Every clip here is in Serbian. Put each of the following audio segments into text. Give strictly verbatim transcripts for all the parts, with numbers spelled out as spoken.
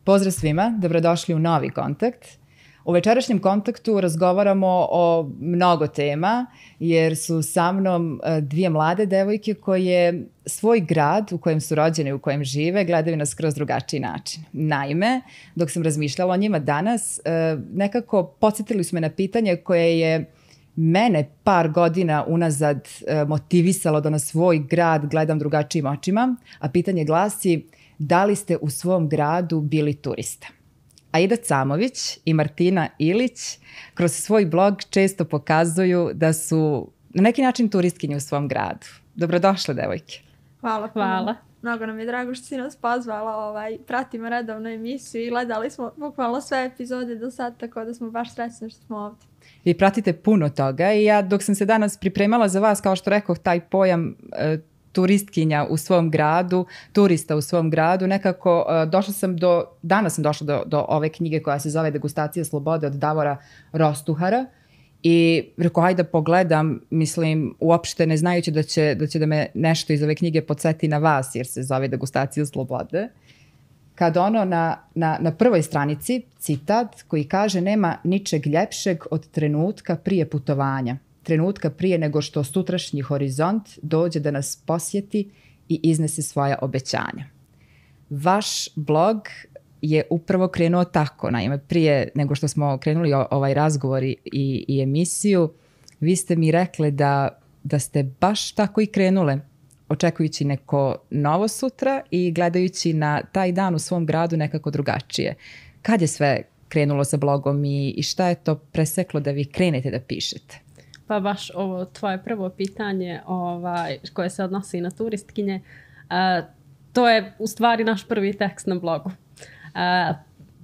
Pozdrav svima, dobrodošli u novi kontakt. U večerašnjem kontaktu razgovaramo o mnogo tema, jer su sa mnom dvije mlade devojke koje svoj grad u kojem su rođene i u kojem žive gledaju na skroz drugačiji način. Naime, dok sam razmišljala o njima danas, nekako podsjetili su me na pitanje koje je mene par godina unazad motivisalo da na svoj grad gledam drugačijim očima, a pitanje glasi: da li ste u svom gradu bili turista? Aida Camović i Martina Ilić kroz svoj blog često pokazuju da su na neki način turistkinje u svom gradu. Dobrodošle, devojke. Hvala. Hvala. Mnogo nam je drago što si nas pozvala. Ovaj, pratimo redovnu emisiju i gledali smo bukvalno sve epizode do sad, tako da smo baš srećni što smo ovdje. Vi pratite puno toga i ja dok sam se danas pripremala za vas, kao što rekoh, taj pojam e, turistkinja u svom gradu, turista u svom gradu, nekako uh, došla sam do, danas sam došla do, do ove knjige koja se zove Degustacija slobode od Davora Rostuhara i rekao, hajde da pogledam, mislim, uopšte ne znajući da će, da će da me nešto iz ove knjige podsjeti na vas, jer se zove Degustacija slobode. Kad ono na, na, na prvoj stranici, citat koji kaže: nema ničeg ljepšeg od trenutka prije putovanja. Trenutka prije nego što sutrašnji horizont dođe da nas posjeti i iznese svoja obećanja. Vaš blog je upravo krenuo tako. Naime, prije nego što smo krenuli o, ovaj razgovor i, i, i emisiju, vi ste mi rekli da, da ste baš tako i krenule, očekujući neko novo sutra i gledajući na taj dan u svom gradu nekako drugačije. Kad je sve krenulo sa blogom i, i šta je to preseklo da vi krenete da pišete? Pa baš ovo tvoje prvo pitanje ovaj, koje se odnosi na turistkinje, uh, to je u stvari naš prvi tekst na blogu. Uh,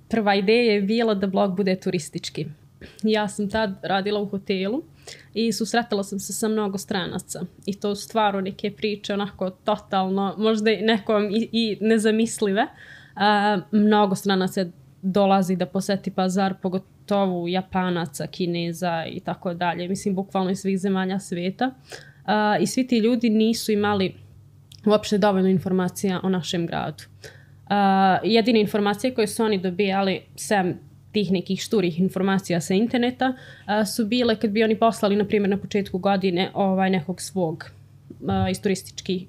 prva ideja je bila da blog bude turistički. Ja sam tad radila u hotelu i susretala sam se sa mnogo stranaca. I to stvarno neke priče onako totalno, možda nekom i, i nezamislive. Uh, mnogo stranaca dolazi da poseti pazar, pogotovo Japanaca, Kineza i tako dalje. Mislim, bukvalno iz svih zemalja svijeta. Uh, I svi ti ljudi nisu imali uopšte dovoljno informacija o našem gradu. Uh, jedine informacije koje su oni dobijali, sem tih nekih šturih informacija sa interneta, uh, su bile kad bi oni poslali, na primjer, na početku godine ovaj nekog svog uh, iz turističkih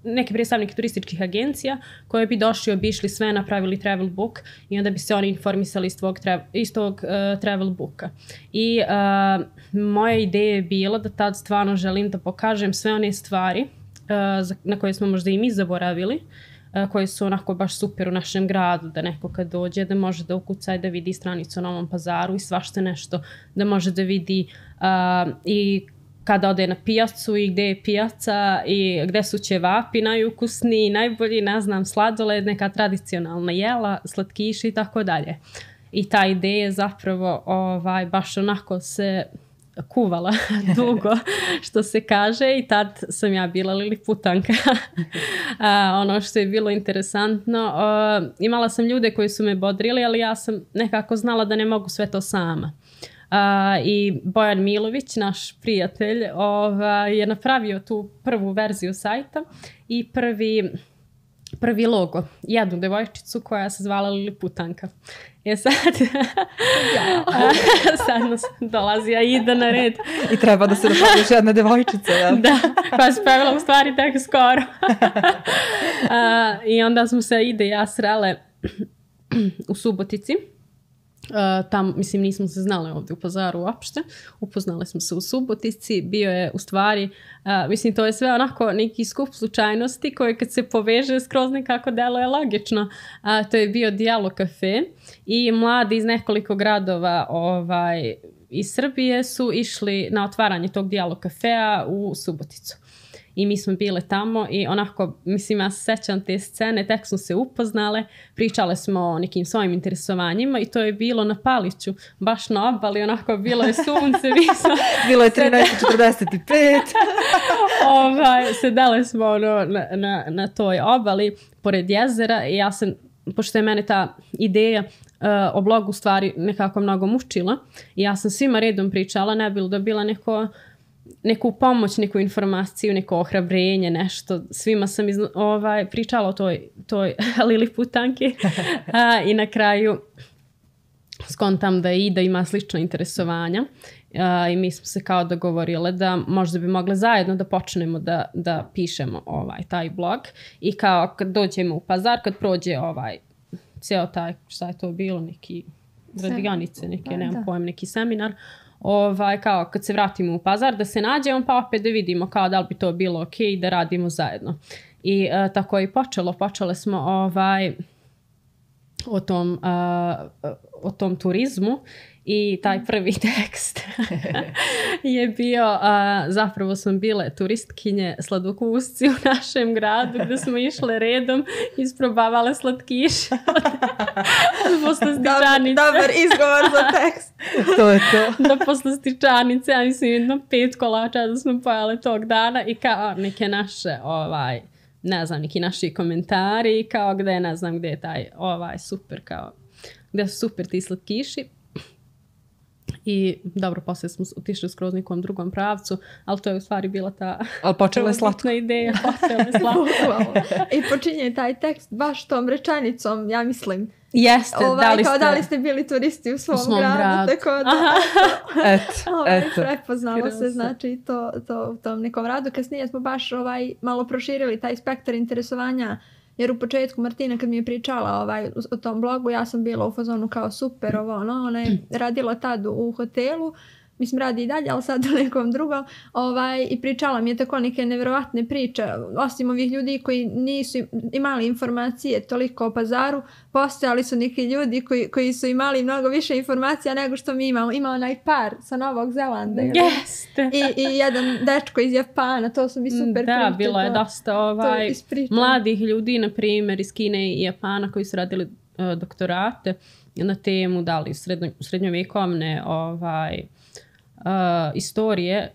neke predstavnike turističkih agencija koje bi došli, obišli sve, napravili travel book i onda bi se oni informisali iz tog, iz tog uh, travel booka. I uh, moja ideja je bila da tad stvarno želim da pokažem sve one stvari uh, na koje smo možda i mi zaboravili, uh, koje su onako baš super u našem gradu, da neko kad dođe da može da ukuca i da vidi stranicu o Novom Pazaru i svašta nešto, da može da vidi uh, i kada ode na pijacu i gde je pijaca i gde su ćevapi najukusniji, najbolji, ne znam, sladoled, neka tradicionalna jela, slatkiši i tako dalje. I ta ideja je zapravo ovaj, baš onako se kuvala dugo, što se kaže, i tad sam ja bila liliputanka. A, ono što je bilo interesantno, a, imala sam ljude koji su me bodrili, ali ja sam nekako znala da ne mogu sve to sama. Uh, i Bojan Milović, naš prijatelj, ovaj, je napravio tu prvu verziju sajta i prvi, prvi logo, jednu devojčicu koja se zvala Liliputanka. Je sad, sad nas dolazi Aida na red. I treba da se napravi još jedna devojčica. Ja? Da, koja se pojavila u stvari tek skoro. uh, I onda smo se Aida i ja srele u Subotici. Uh, tam, mislim, nismo se znali ovdje u Pazaru uopšte. Upoznali smo se u Subotici. Bio je u stvari, uh, mislim, to je sve onako neki skup slučajnosti koje kad se poveže skroz nekako deluje logično. Uh, to je bio Dijalog kafe i mladi iz nekoliko gradova ovaj, iz Srbije su išli na otvaranje tog Dijalog kafea u Suboticu. I mi smo bile tamo i onako, mislim, ja se sećam te scene, tek smo se upoznale, pričale smo o nekim svojim interesovanjima i to je bilo na Paliću, baš na obali, onako bilo je sunce, mi smo... bilo je trinaest četrdeset pet. ovaj, sedale smo ono, na, na, na toj obali, pored jezera i ja sam, pošto je mene ta ideja uh, o blogu stvari nekako mnogo mučila i ja sam svima redom pričala, ne bilo da bila neko neku pomoć, neku informaciju, neko ohrabrenje, nešto. Svima sam izno, ovaj, pričala o toj, toj Liliputanki a, i na kraju skontam da i da ima slična interesovanja. Uh, i mi smo se kao dogovorile da možda bi mogle zajedno da počnemo da, da pišemo ovaj, taj blog i kao kad dođemo u Pazar, kad prođe ovaj cijel taj, šta je to bilo, neki radionice, neke, da, nemam da. pojem, neki seminar, ovaj, kao kad se vratimo u Pazar da se nađemo pa opet da vidimo kao da li bi to bilo ok da radimo zajedno. I uh, tako je i počelo, počele smo ovaj, o tom, uh, o tom turizmu. I taj prvi tekst je bio, uh, zapravo smo bile turistkinje sladokusci u našem gradu gdje smo išle redom, isprobavale slatkiše od, od poslastičanice. Dobar izgovor za tekst. To je to. Do poslastičanice, ja mislim jedno pet kolača da smo pojale tog dana i kao neke naše, ovaj, ne znam, neki naši komentari i kao gde, ne znam gdje je taj ovaj super, kao gdje su super ti slatkiši. I dobro, poslije smo otišli skroz nekom drugom pravcu, ali to je u stvari bila ta ali počela je slatko. ideja. Počela je slatko. I počinje taj tekst baš tom rečenicom, ja mislim. Jeste, ovaj, da li kao ste... da li ste bili turisti u svom, u svom gradu, gradu. Tako da, eto, ovaj, eto. prepoznalo Krasa. se znači to, to u tom nekom radu. Kasnije smo baš ovaj, malo proširili taj spektar interesovanja. Jer u početku Martina kad mi je pričala ovaj, o tom blogu, ja sam bila u fazonu kao super ovo, ono, ona je radila tad u hotelu, mislim radi i dalje, ali sad u nekom drugom, ovaj, i pričala mi je tako neke nevjerovatne priče, osim ovih ljudi koji nisu imali informacije toliko o Pazaru, postojali su neki ljudi koji, koji su imali mnogo više informacija nego što mi imamo. Ima onaj par sa Novog Zelanda. Jeste. I, I jedan dečko iz Japana, to su mi super Da, priče, bilo je to- dosta ovaj, ispričano. mladih ljudi, na primjer, iz Kine i Japana koji su radili uh, doktorate na temu da li srednjo, srednjovjekovne ovaj, uh, istorije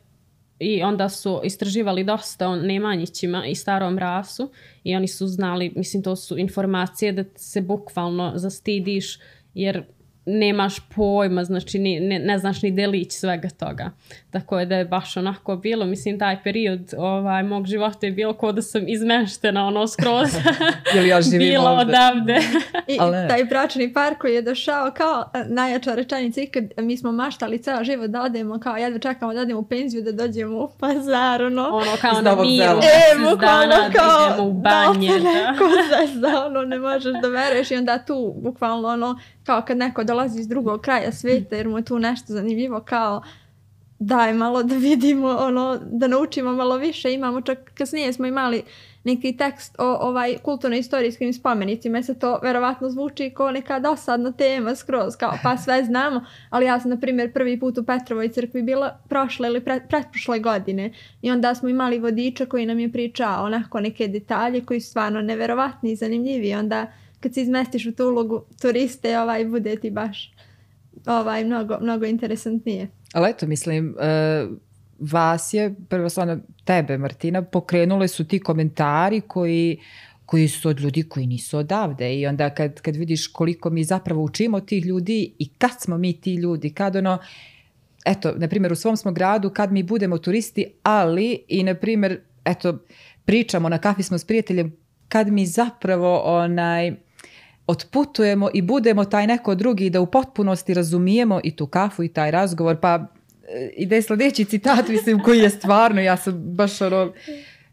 i onda su istraživali dosta o Nemanjićima i starom rasu i oni su znali, mislim to su informacije da se bukvalno zastidiš jer nemaš pojma, znači ni, ne, ne znaš ni delić svega toga. Tako je da je baš onako bilo, mislim taj period ovaj, mog života je bilo kao da sam izmeštena ono skroz Jel ja živim bila ovde? odavde. I Ali ne. taj bračni par koji je došao kao e, najjača rečenica ikad, mi smo maštali ceo život da odemo, kao jedva čekamo da odemo u penziju, da dođemo u Pazar, ono. Ono kao Iz na Novog miru, Zelanda. E, mjesec bukvalno dana da kao, idemo u banje. da te Da. neko zezda, ono, ne možeš da veruješ i onda tu, bukvalno, ono, kao kad neko dolazi iz drugog kraja svijeta jer mu je tu nešto zanimljivo, kao daj malo da vidimo, ono, da naučimo malo više. Imamo čak, kasnije smo imali neki tekst o ovaj kulturno-istorijskim spomenicima, jer se to verovatno zvuči kao neka dosadna tema skroz, kao pa sve znamo, ali ja sam na primjer prvi put u Petrovoj crkvi bila prošle ili pre, pretprošle godine i onda smo imali vodiča koji nam je pričao onako neke detalje koji su stvarno neverovatni i zanimljivi i onda kad se izmestiš u tu ulogu turiste, ovaj, bude ti baš ovaj, mnogo, mnogo interesantnije. Ali eto, mislim, uh, vas je, prvo stvarno tebe, Martina, pokrenule su ti komentari koji, koji su od ljudi koji nisu odavde i onda kad, kad vidiš koliko mi zapravo učimo od tih ljudi i kad smo mi ti ljudi, kad ono, eto, na primjer u svom smo gradu, kad mi budemo turisti, ali i na primjer, eto, pričamo na kafi smo s prijateljem, kad mi zapravo onaj, otputujemo i budemo taj neko drugi da u potpunosti razumijemo i tu kafu i taj razgovor, pa ide sljedeći citat, mislim, koji je stvarno, ja sam baš ono,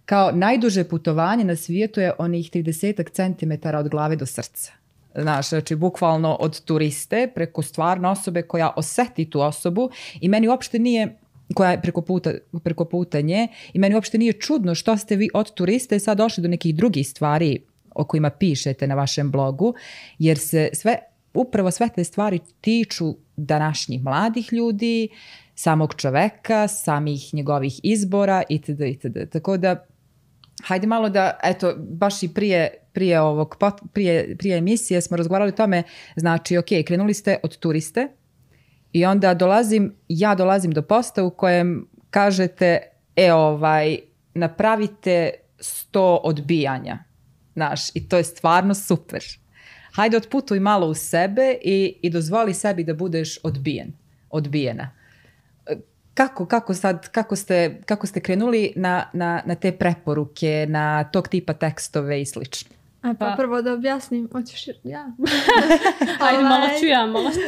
kao najduže putovanje na svijetu je onih trideset centimetara od glave do srca. Znaš, znači bukvalno od turiste preko stvarno osobe koja osjeti tu osobu i meni uopšte nije, koja je preko puta, preko puta nje, i meni uopšte nije čudno što ste vi od turiste sad došli do nekih drugih stvari o kojima pišete na vašem blogu, jer se sve, upravo sve te stvari tiču današnjih mladih ljudi, samog čoveka, samih njegovih izbora itd. itd. Tako da, hajde malo da, eto, baš i prije, prije, ovog, prije, prije emisije smo razgovarali o tome, znači, ok, krenuli ste od turiste i onda dolazim, ja dolazim do posta u kojem kažete, e, ovaj, napravite sto odbijanja. Znaš, i to je stvarno super. Hajde otputuj malo u sebe i, i dozvoli sebi da budeš odbijen, odbijena. kako, kako, sad, kako, ste, kako ste krenuli na, na, na te preporuke, na tog tipa tekstove i slično? A pa, pa prvo da objasnim, hoćeš ja? Ajde, malo ću ja, malo ću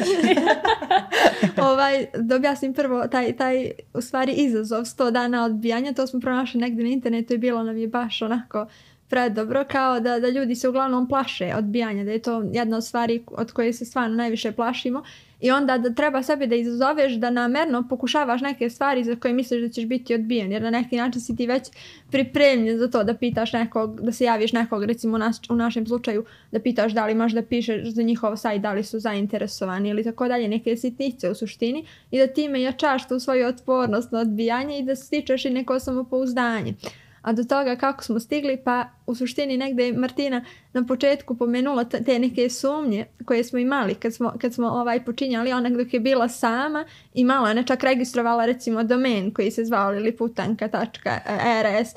ovaj, da objasnim prvo taj, taj u stvari izazov sto dana odbijanja, to smo pronašli negdje na internetu i bilo nam je baš onako predobro, kao da, da ljudi se uglavnom plaše odbijanja, da je to jedna od stvari od koje se stvarno najviše plašimo i onda da treba sebe da izazoveš da namerno pokušavaš neke stvari za koje misliš da ćeš biti odbijen, jer na neki način si ti već pripremljen za to da pitaš nekog, da se javiš nekog, recimo nas, u našem slučaju da pitaš da li možda pišeš za njihov sajt, da li su zainteresovani ili tako dalje, neke sitnice u suštini i da time jačaš tu svoju otpornost na odbijanje i da stičeš i neko samopouzdanje. A do toga kako smo stigli, pa u suštini negdje je Martina na početku pomenula te neke sumnje koje smo imali kad smo, kad smo ovaj počinjali, ona dok je bila sama imala, ona čak registrovala recimo domen koji se zvao liliputanka tačka er es.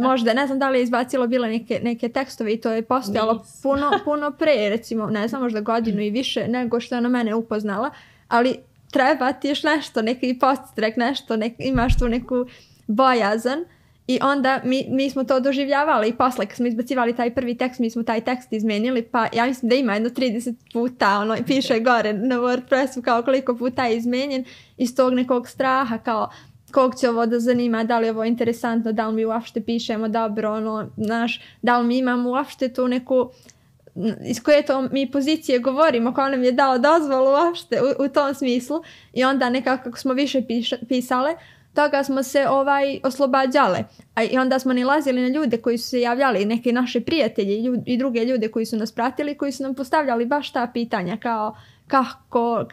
Možda, ne znam da li je izbacilo bilo neke, neke tekstove i to je postojalo puno, puno pre, recimo, ne znam, možda godinu i više nego što je ona mene upoznala, ali treba ti još nešto, neki podstrek, nešto, nek, imaš tu neku bojazan. I onda mi, mi smo to doživljavali i posle kad smo izbacivali taj prvi tekst, mi smo taj tekst izmenili, pa ja mislim da ima jedno trideset puta, ono, piše gore na WordPressu kao koliko puta je izmenjen iz tog nekog straha, kao kog će ovo da zanima, da li je ovo interesantno, da li mi uopšte pišemo dobro, ono, znaš, da li mi imamo uopšte tu neku, iz koje to mi pozicije govorimo, ko nam je dao dozvolu uopšte u, u tom smislu i onda nekako kako smo više piša, pisale, toga smo se ovaj oslobađale. A i onda smo nalazili na ljude koji su se javljali, neke naše prijatelje i, ljud, i druge ljude koji su nas pratili, koji su nam postavljali baš ta pitanja kao kako,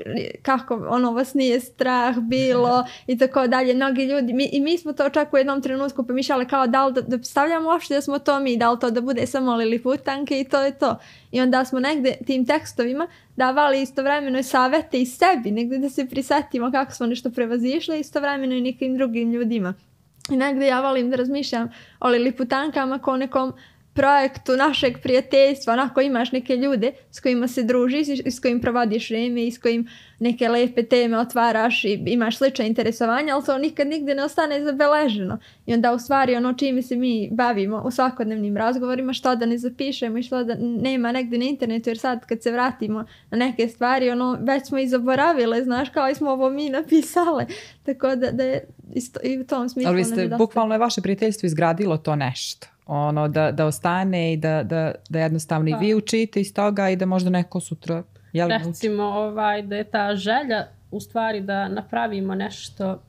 kako ono vas nije strah bilo i tako dalje. Mnogi ljudi, mi, i mi smo to čak u jednom trenutku pomišljali kao da li da, da stavljamo uopšte da smo to mi, da li to da bude samo liliputanke i to je to. I onda smo negde tim tekstovima davali istovremeno savete i sebi, negde da se prisetimo kako smo nešto prevazišli, istovremeno i nekim drugim ljudima. I negde ja volim da razmišljam o liliputankama kao nekom projektu našeg prijateljstva, onako imaš neke ljude s kojima se družiš i s kojim provodiš vrijeme i s kojim neke lepe teme otvaraš i imaš slične interesovanja, ali to nikad nigde ne ostane zabeleženo. I onda u stvari ono čime se mi bavimo u svakodnevnim razgovorima, što da ne zapišemo i što da nema negde na internetu, jer sad kad se vratimo na neke stvari, ono već smo i zaboravile, znaš, kao i smo ovo mi napisale. Tako da, da je isto, i u tom smislu. Ali vi ste, bukvalno je vaše prijateljstvo izgradilo to nešto. Ono, da, da ostane i da, da, da jednostavno i vi učite iz toga i da možda neko sutra... Jel, recimo ovaj, da je ta želja u stvari da napravimo nešto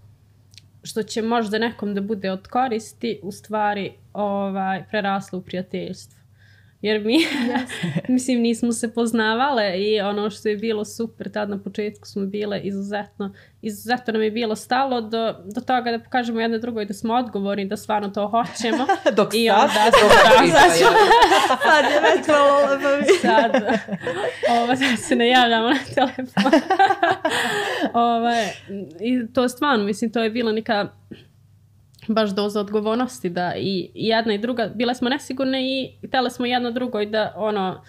što će možda nekom da bude od koristi, u stvari ovaj, preraslo u prijateljstvo. Jer mi, yes. mislim, nismo se poznavale i ono što je bilo super, tad na početku smo bile izuzetno, izuzetno nam je bilo stalo do, do toga da pokažemo jedno drugoj da smo odgovorni, da stvarno to hoćemo. Dok I sad, onda dok sad, sad je već malo lepo. Sad, ovo, sad se ne javljamo na telefon. Ove, I to stvarno, mislim, to je bila neka baš doza odgovornosti da i jedna i druga, bile smo nesigurne i htjeli smo jedno drugoj da ono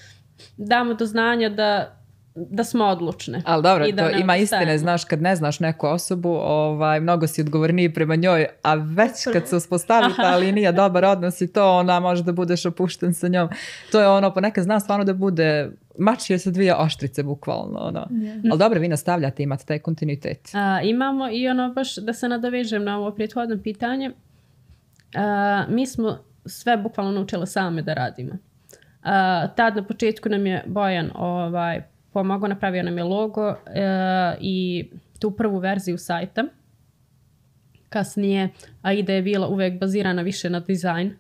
damo do znanja da, da smo odlučne. Ali dobro, to ima istine, znaš, kad ne znaš neku osobu, ovaj, mnogo si odgovorniji prema njoj, a već kad se uspostavi ta linija dobar odnos i to, ona može da budeš opušten sa njom. To je ono, ponekad zna stvarno da bude mačije sa dvije oštrice, bukvalno. Ono. Yeah. Ali dobro, vi nastavljate, imate taj kontinuitet. A, imamo i ono, baš da se nadovežem na ovo prethodno pitanje, a, mi smo sve bukvalno naučile same da radimo. A, tad na početku nam je Bojan ovaj, pomogao, napravio nam je logo uh, i tu prvu verziju sajta. Kasnije Aida je bila uvek bazirana više na dizajn,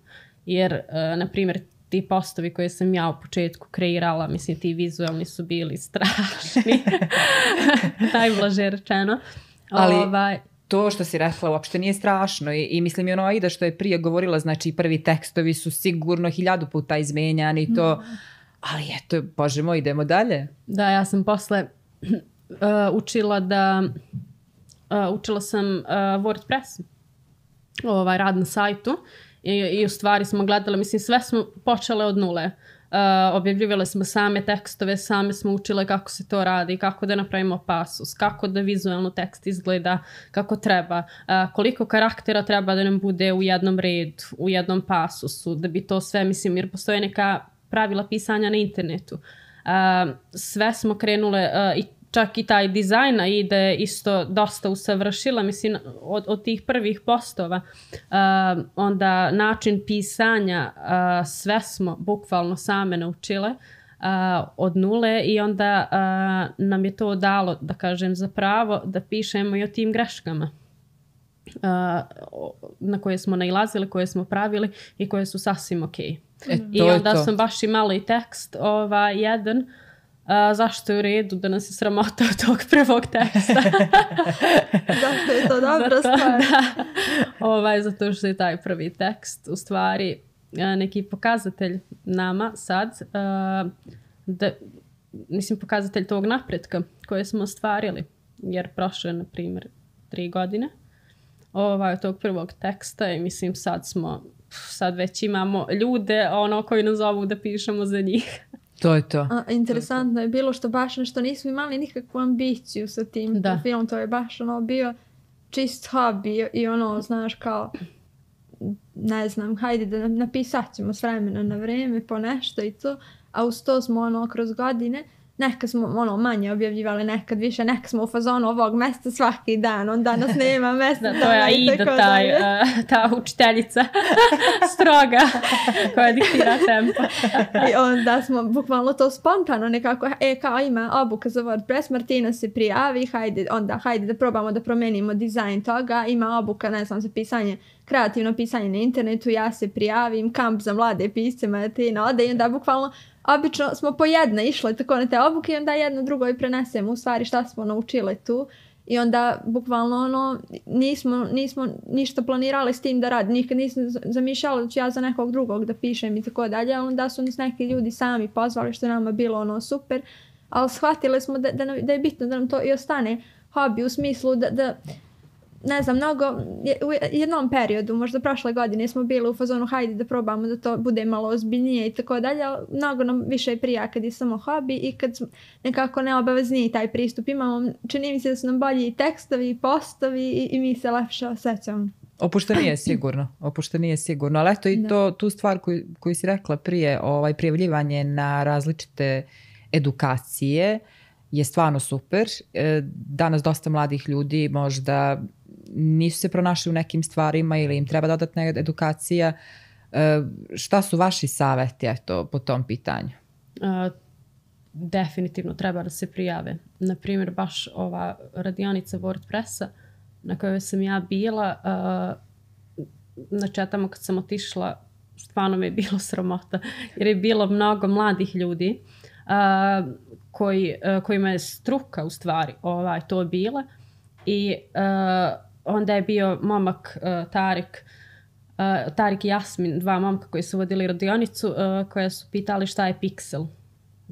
jer, uh, na primjer, ti postovi koje sam ja u početku kreirala, mislim, ti vizualni su bili strašni. Najblaže rečeno. Ali ovaj, to što si rekla uopšte nije strašno i, i mislim i ono Aida što je prije govorila, znači prvi tekstovi su sigurno hiljadu puta izmenjani i to... Mm. Ali eto, bože moj, idemo dalje. Da, ja sam posle uh, učila da, uh, učila sam uh, WordPress, ovaj rad na sajtu i, i u stvari smo gledali, mislim, sve smo počele od nule. objavljivali smo same tekstove, same smo učile kako se to radi, kako da napravimo pasus, kako da vizualno tekst izgleda kako treba, uh, koliko karaktera treba da nam bude u jednom redu, u jednom pasusu, da bi to sve, mislim, jer postoje neka pravila pisanja na internetu. Uh, sve smo krenule uh, i čak i taj dizajna ide isto dosta usavršila, mislim, od, od tih prvih postova. Uh, onda način pisanja, uh, sve smo bukvalno same naučile uh, od nule i onda uh, nam je to dalo, da kažem, za pravo da pišemo i o tim greškama uh, na koje smo nailazili, koje smo pravili i koje su sasvim ok. E, I onda sam baš imala i tekst ovaj, jedan. Uh, zašto je u redu da nas je sramota od tog prvog teksta? Zašto je to dobra zato, stvar? Da, ovaj, zato što je taj prvi tekst u stvari uh, neki pokazatelj nama sad, uh, da, mislim pokazatelj tog napretka koje smo ostvarili, jer prošlo je na primjer tri godine ovaj, od tog prvog teksta i mislim sad smo, sad već imamo ljude ono koji nas zovu da pišemo za njih. To je to. A, interesantno je bilo što baš nešto nismo imali nikakvu ambiciju sa tim da. Filmom, to je baš ono bio čist hobby i ono, znaš, kao ne znam, hajde da napisat ćemo s vremena na vreme po nešto i to, a uz to smo ono kroz godine nekad smo ono manje objavljivali, nekad više, nekad smo u fazonu ovog mesta svaki dan, onda nas nema mesta. Da, to je Aida, taj, uh, ta učiteljica stroga koja diktira tempo. I onda smo bukvalno to spontano nekako, e kao ima obuka za WordPress, Martina se prijavi, hajde, onda hajde da probamo da promenimo dizajn toga, ima obuka, ne znam, za pisanje, kreativno pisanje na internetu, ja se prijavim, kamp za mlade pisce, Martina ode i onda bukvalno obično smo po jedna išle tako na te obuke i onda jedno drugo i prenesemo u stvari šta smo naučile tu i onda bukvalno ono nismo, nismo ništa planirali s tim da radim, nikad nisam zamišljala da ću ja za nekog drugog da pišem i tako dalje, ali onda su nas neki ljudi sami pozvali što je nama bilo ono super, ali shvatili smo da, da, da je bitno da nam to i ostane hobi u smislu da, da ne znam, mnogo, u jednom periodu, možda prošle godine smo bili u fazonu hajde da probamo da to bude malo ozbiljnije i tako dalje, ali mnogo nam više prija kad je samo hobi i kad nekako neobavezniji taj pristup imamo, čini mi se da su nam bolji i tekstovi i postovi i, i mi se lepše osjećamo. Opuštenije sigurno, opuštenije sigurno, ali eto i to, tu stvar koju, koju si rekla prije, ovaj, prijavljivanje na različite edukacije je stvarno super. Danas dosta mladih ljudi možda nisu se pronašli u nekim stvarima ili im treba dodatna edukacija. Šta su vaši savjeti eto, po tom pitanju? Uh, definitivno treba da se prijave. Naprimjer, baš ova radionica WordPressa na kojoj sam ja bila, uh, znači ja tamo kad sam otišla, stvarno mi je bilo sramota, jer je bilo mnogo mladih ljudi uh, koji, uh, kojima je struka u stvari ovaj, to bila i uh, onda je bio momak uh, Tarik, uh, Tarik i Jasmin, dva momka koji su vodili radionicu, uh, koja su pitali šta je piksel.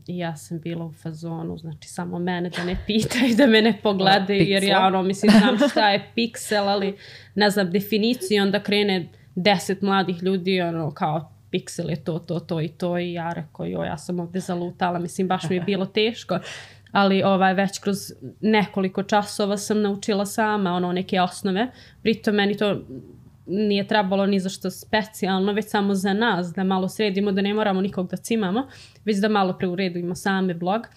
I ja sam bila u fazonu, znači samo mene da ne pitaju, da me ne pogledaju, jer ja ono, mislim, znam šta je piksel, ali ne znam definiciju, onda krene deset mladih ljudi, ono, kao piksel je to, to, to i to, i ja rekao, jo, ja sam ovdje zalutala, mislim, baš mi je bilo teško. Ali ovaj, već kroz nekoliko časova sam naučila sama ono neke osnove. Pritom meni to nije trebalo ni za što specijalno, već samo za nas, da malo sredimo, da ne moramo nikog da cimamo, već da malo preuredimo same blog.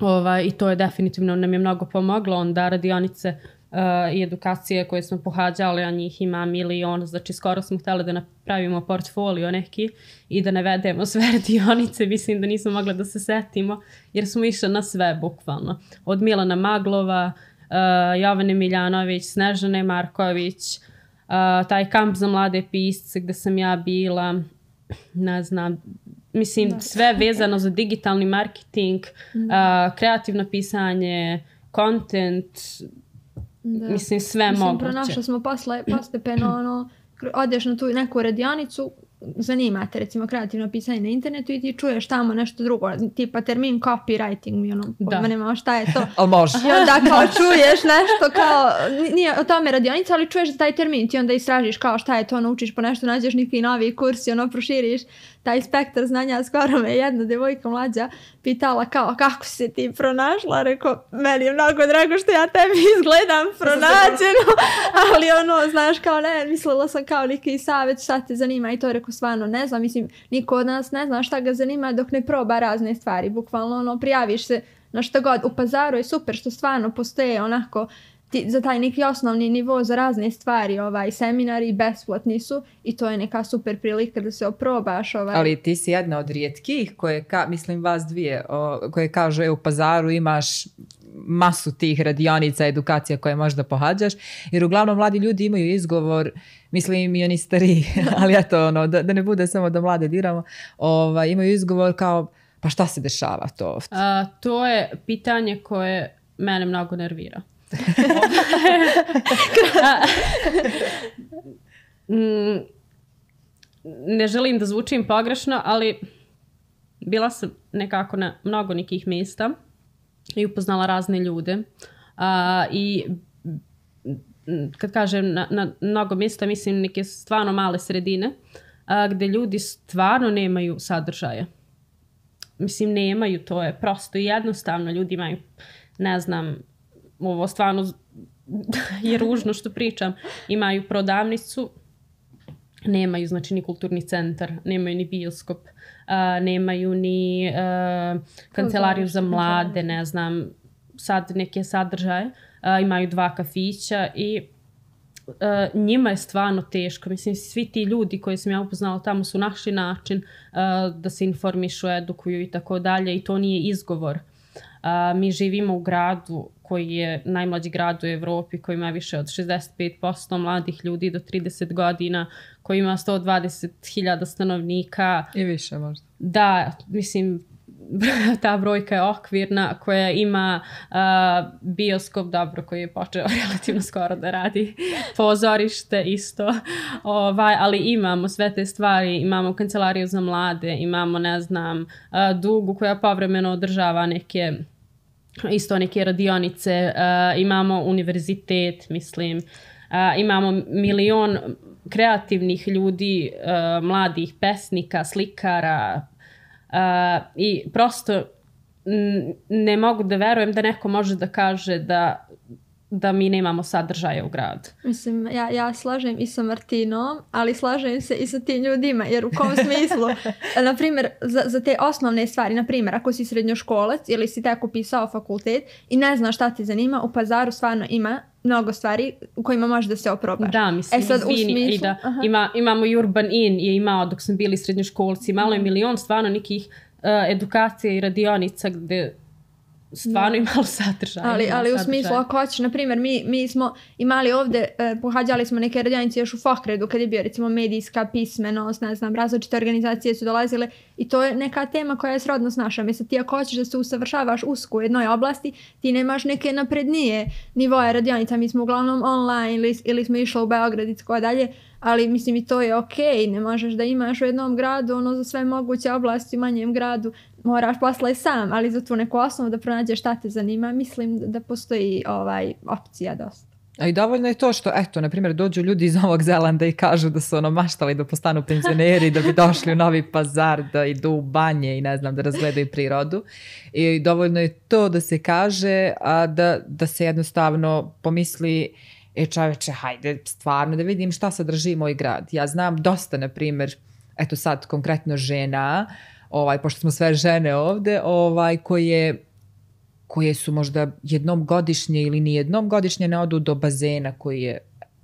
Ovaj, I to je definitivno nam je mnogo pomoglo. Onda radionice uh, i edukacije koje smo pohađali, a njih ima milion, znači skoro smo htjeli da napravimo portfolio neki i da navedemo sve radionice, mislim da nismo mogli da se setimo, jer smo išli na sve bukvalno. Od Milana Maglova, uh, Jovane Miljanović, Snežane Marković, uh, taj kamp za mlade pisce gdje sam ja bila, ne znam, mislim da. Sve vezano za digitalni marketing, mm. uh, kreativno pisanje, content, da. Mislim sve mislim, moguće. Pronašli smo posle, postepeno ono, odeš na tu neku radionicu zanimate recimo kreativno pisanje na internetu i ti čuješ tamo nešto drugo, tipa termin copywriting, mi ono, pojma nema šta je to. Ali može. I onda kao čuješ nešto kao, nije o tome radionica, ali čuješ za taj termin, ti onda istražiš kao šta je to, naučiš po nešto, nađeš neki novi kurs i ono proširiš taj spektar znanja. Skoro me jedna devojka mlađa pitala kao kako si se ti pronašla, rekao meni je mnogo drago što ja tebi izgledam pronađeno, ali ono znaš kao ne, mislila sam kao neki savjet šta te zanima i to rekao stvarno ne znam, mislim niko od nas ne zna šta ga zanima dok ne proba razne stvari, bukvalno ono prijaviš se na što god. U Pazaru je super što stvarno postoje onako ti, za taj neki osnovni nivo za razne stvari, ovaj, seminari besplatni su i to je neka super prilika da se oprobaš. Ovaj. Ali ti si jedna od rijetkih koje, ka, mislim vas dvije, o, koje kažu e, u Pazaru imaš masu tih radionica, edukacija koje možda pohađaš, jer uglavnom mladi ljudi imaju izgovor, mislim i oni stariji, ali eto, ono, da, da ne bude samo da mlade diramo, ovaj, imaju izgovor kao, pa šta se dešava to ovdje? A, to je pitanje koje mene mnogo nervira. Ne želim da zvučim pogrešno, ali bila sam nekako na mnogo nekih mjesta i upoznala razne ljude. A, i kad kažem na, na mnogo mjesta, mislim neke stvarno male sredine a, gdje ljudi stvarno nemaju sadržaja. Mislim, nemaju, to je prosto i jednostavno. Ljudi imaju, ne znam, ovo stvarno je ružno što pričam, imaju prodavnicu, nemaju znači ni kulturni centar, nemaju ni bioskop, uh, nemaju ni uh, kancelariju za mlade, ne znam, sad neke sadržaje, uh, imaju dva kafića i uh, njima je stvarno teško. Mislim, svi ti ljudi koji sam ja upoznala tamo su našli način uh, da se informišu, edukuju i tako dalje i to nije izgovor. Uh, mi živimo u gradu koji je najmlađi grad u Evropi, koji ima više od šezdeset pet posto mladih ljudi do trideset godina, koji ima sto dvadeset hiljada stanovnika. I više možda. Da, mislim, ta brojka je okvirna, koja ima uh, bioskop, dobro, koji je počeo relativno skoro da radi, pozorište isto, ovaj, ali imamo sve te stvari, imamo kancelariju za mlade, imamo, ne znam, uh, Dugu koja povremeno održava neke isto neke radionice, uh, imamo univerzitet, mislim, uh, imamo milion kreativnih ljudi, uh, mladih pesnika, slikara uh, i prosto n- ne mogu da verujem da neko može da kaže da da mi nemamo sadržaja u gradu. Mislim, ja, ja slažem i sa Martinom, ali slažem se i sa tim ljudima, jer u kom smislu, na primjer, za, za te osnovne stvari, na primjer, ako si srednjoškolac ili si tek upisao fakultet i ne znaš šta te zanima, u Pazaru stvarno ima mnogo stvari u kojima možeš da se oprobaš. Da, mislim, e sad, izvini, u smislu, i da, ima, imamo i Urban Inn je imao dok smo bili srednjoškolci, malo je milion stvarno nekih uh, edukacija i radionica gdje stvarno imalo sadržaja. Ali, ali u smislu, ako hoćeš, na primjer, mi, mi smo imali ovdje, eh, pohađali smo neke radionice još u Fokredu, kad je bio recimo medijska pismenost, ne znam, različite organizacije su dolazile i to je neka tema koja je srodno s našom. Mislim, ti ako hoćeš da se usavršavaš usko u jednoj oblasti, ti nemaš neke naprednije nivoje radionica. Mi smo uglavnom online ili, ili smo išli u Beograd i tako dalje, ali mislim i to je okej, ne možeš da imaš u jednom gradu ono za sve moguće oblasti u manjem gradu, moraš posla i sam, ali za tu neku osnovu da pronađeš šta te zanima, mislim da postoji ovaj opcija dosta. A i dovoljno je to što, eto, na primjer, dođu ljudi iz Novog Zelanda i kažu da su ono maštali da postanu penzioneri, da bi došli u Novi Pazar, da idu u banje i ne znam, da razgledaju prirodu. I dovoljno je to da se kaže, a da, da se jednostavno pomisli, e čoveče, hajde, stvarno da vidim šta sadrži moj grad. Ja znam dosta, na primjer, eto sad konkretno žena, ovaj, pošto smo sve žene ovdje, ovaj, koje, koje su možda jednom godišnje ili ni jednom godišnje ne odu do bazena koji je,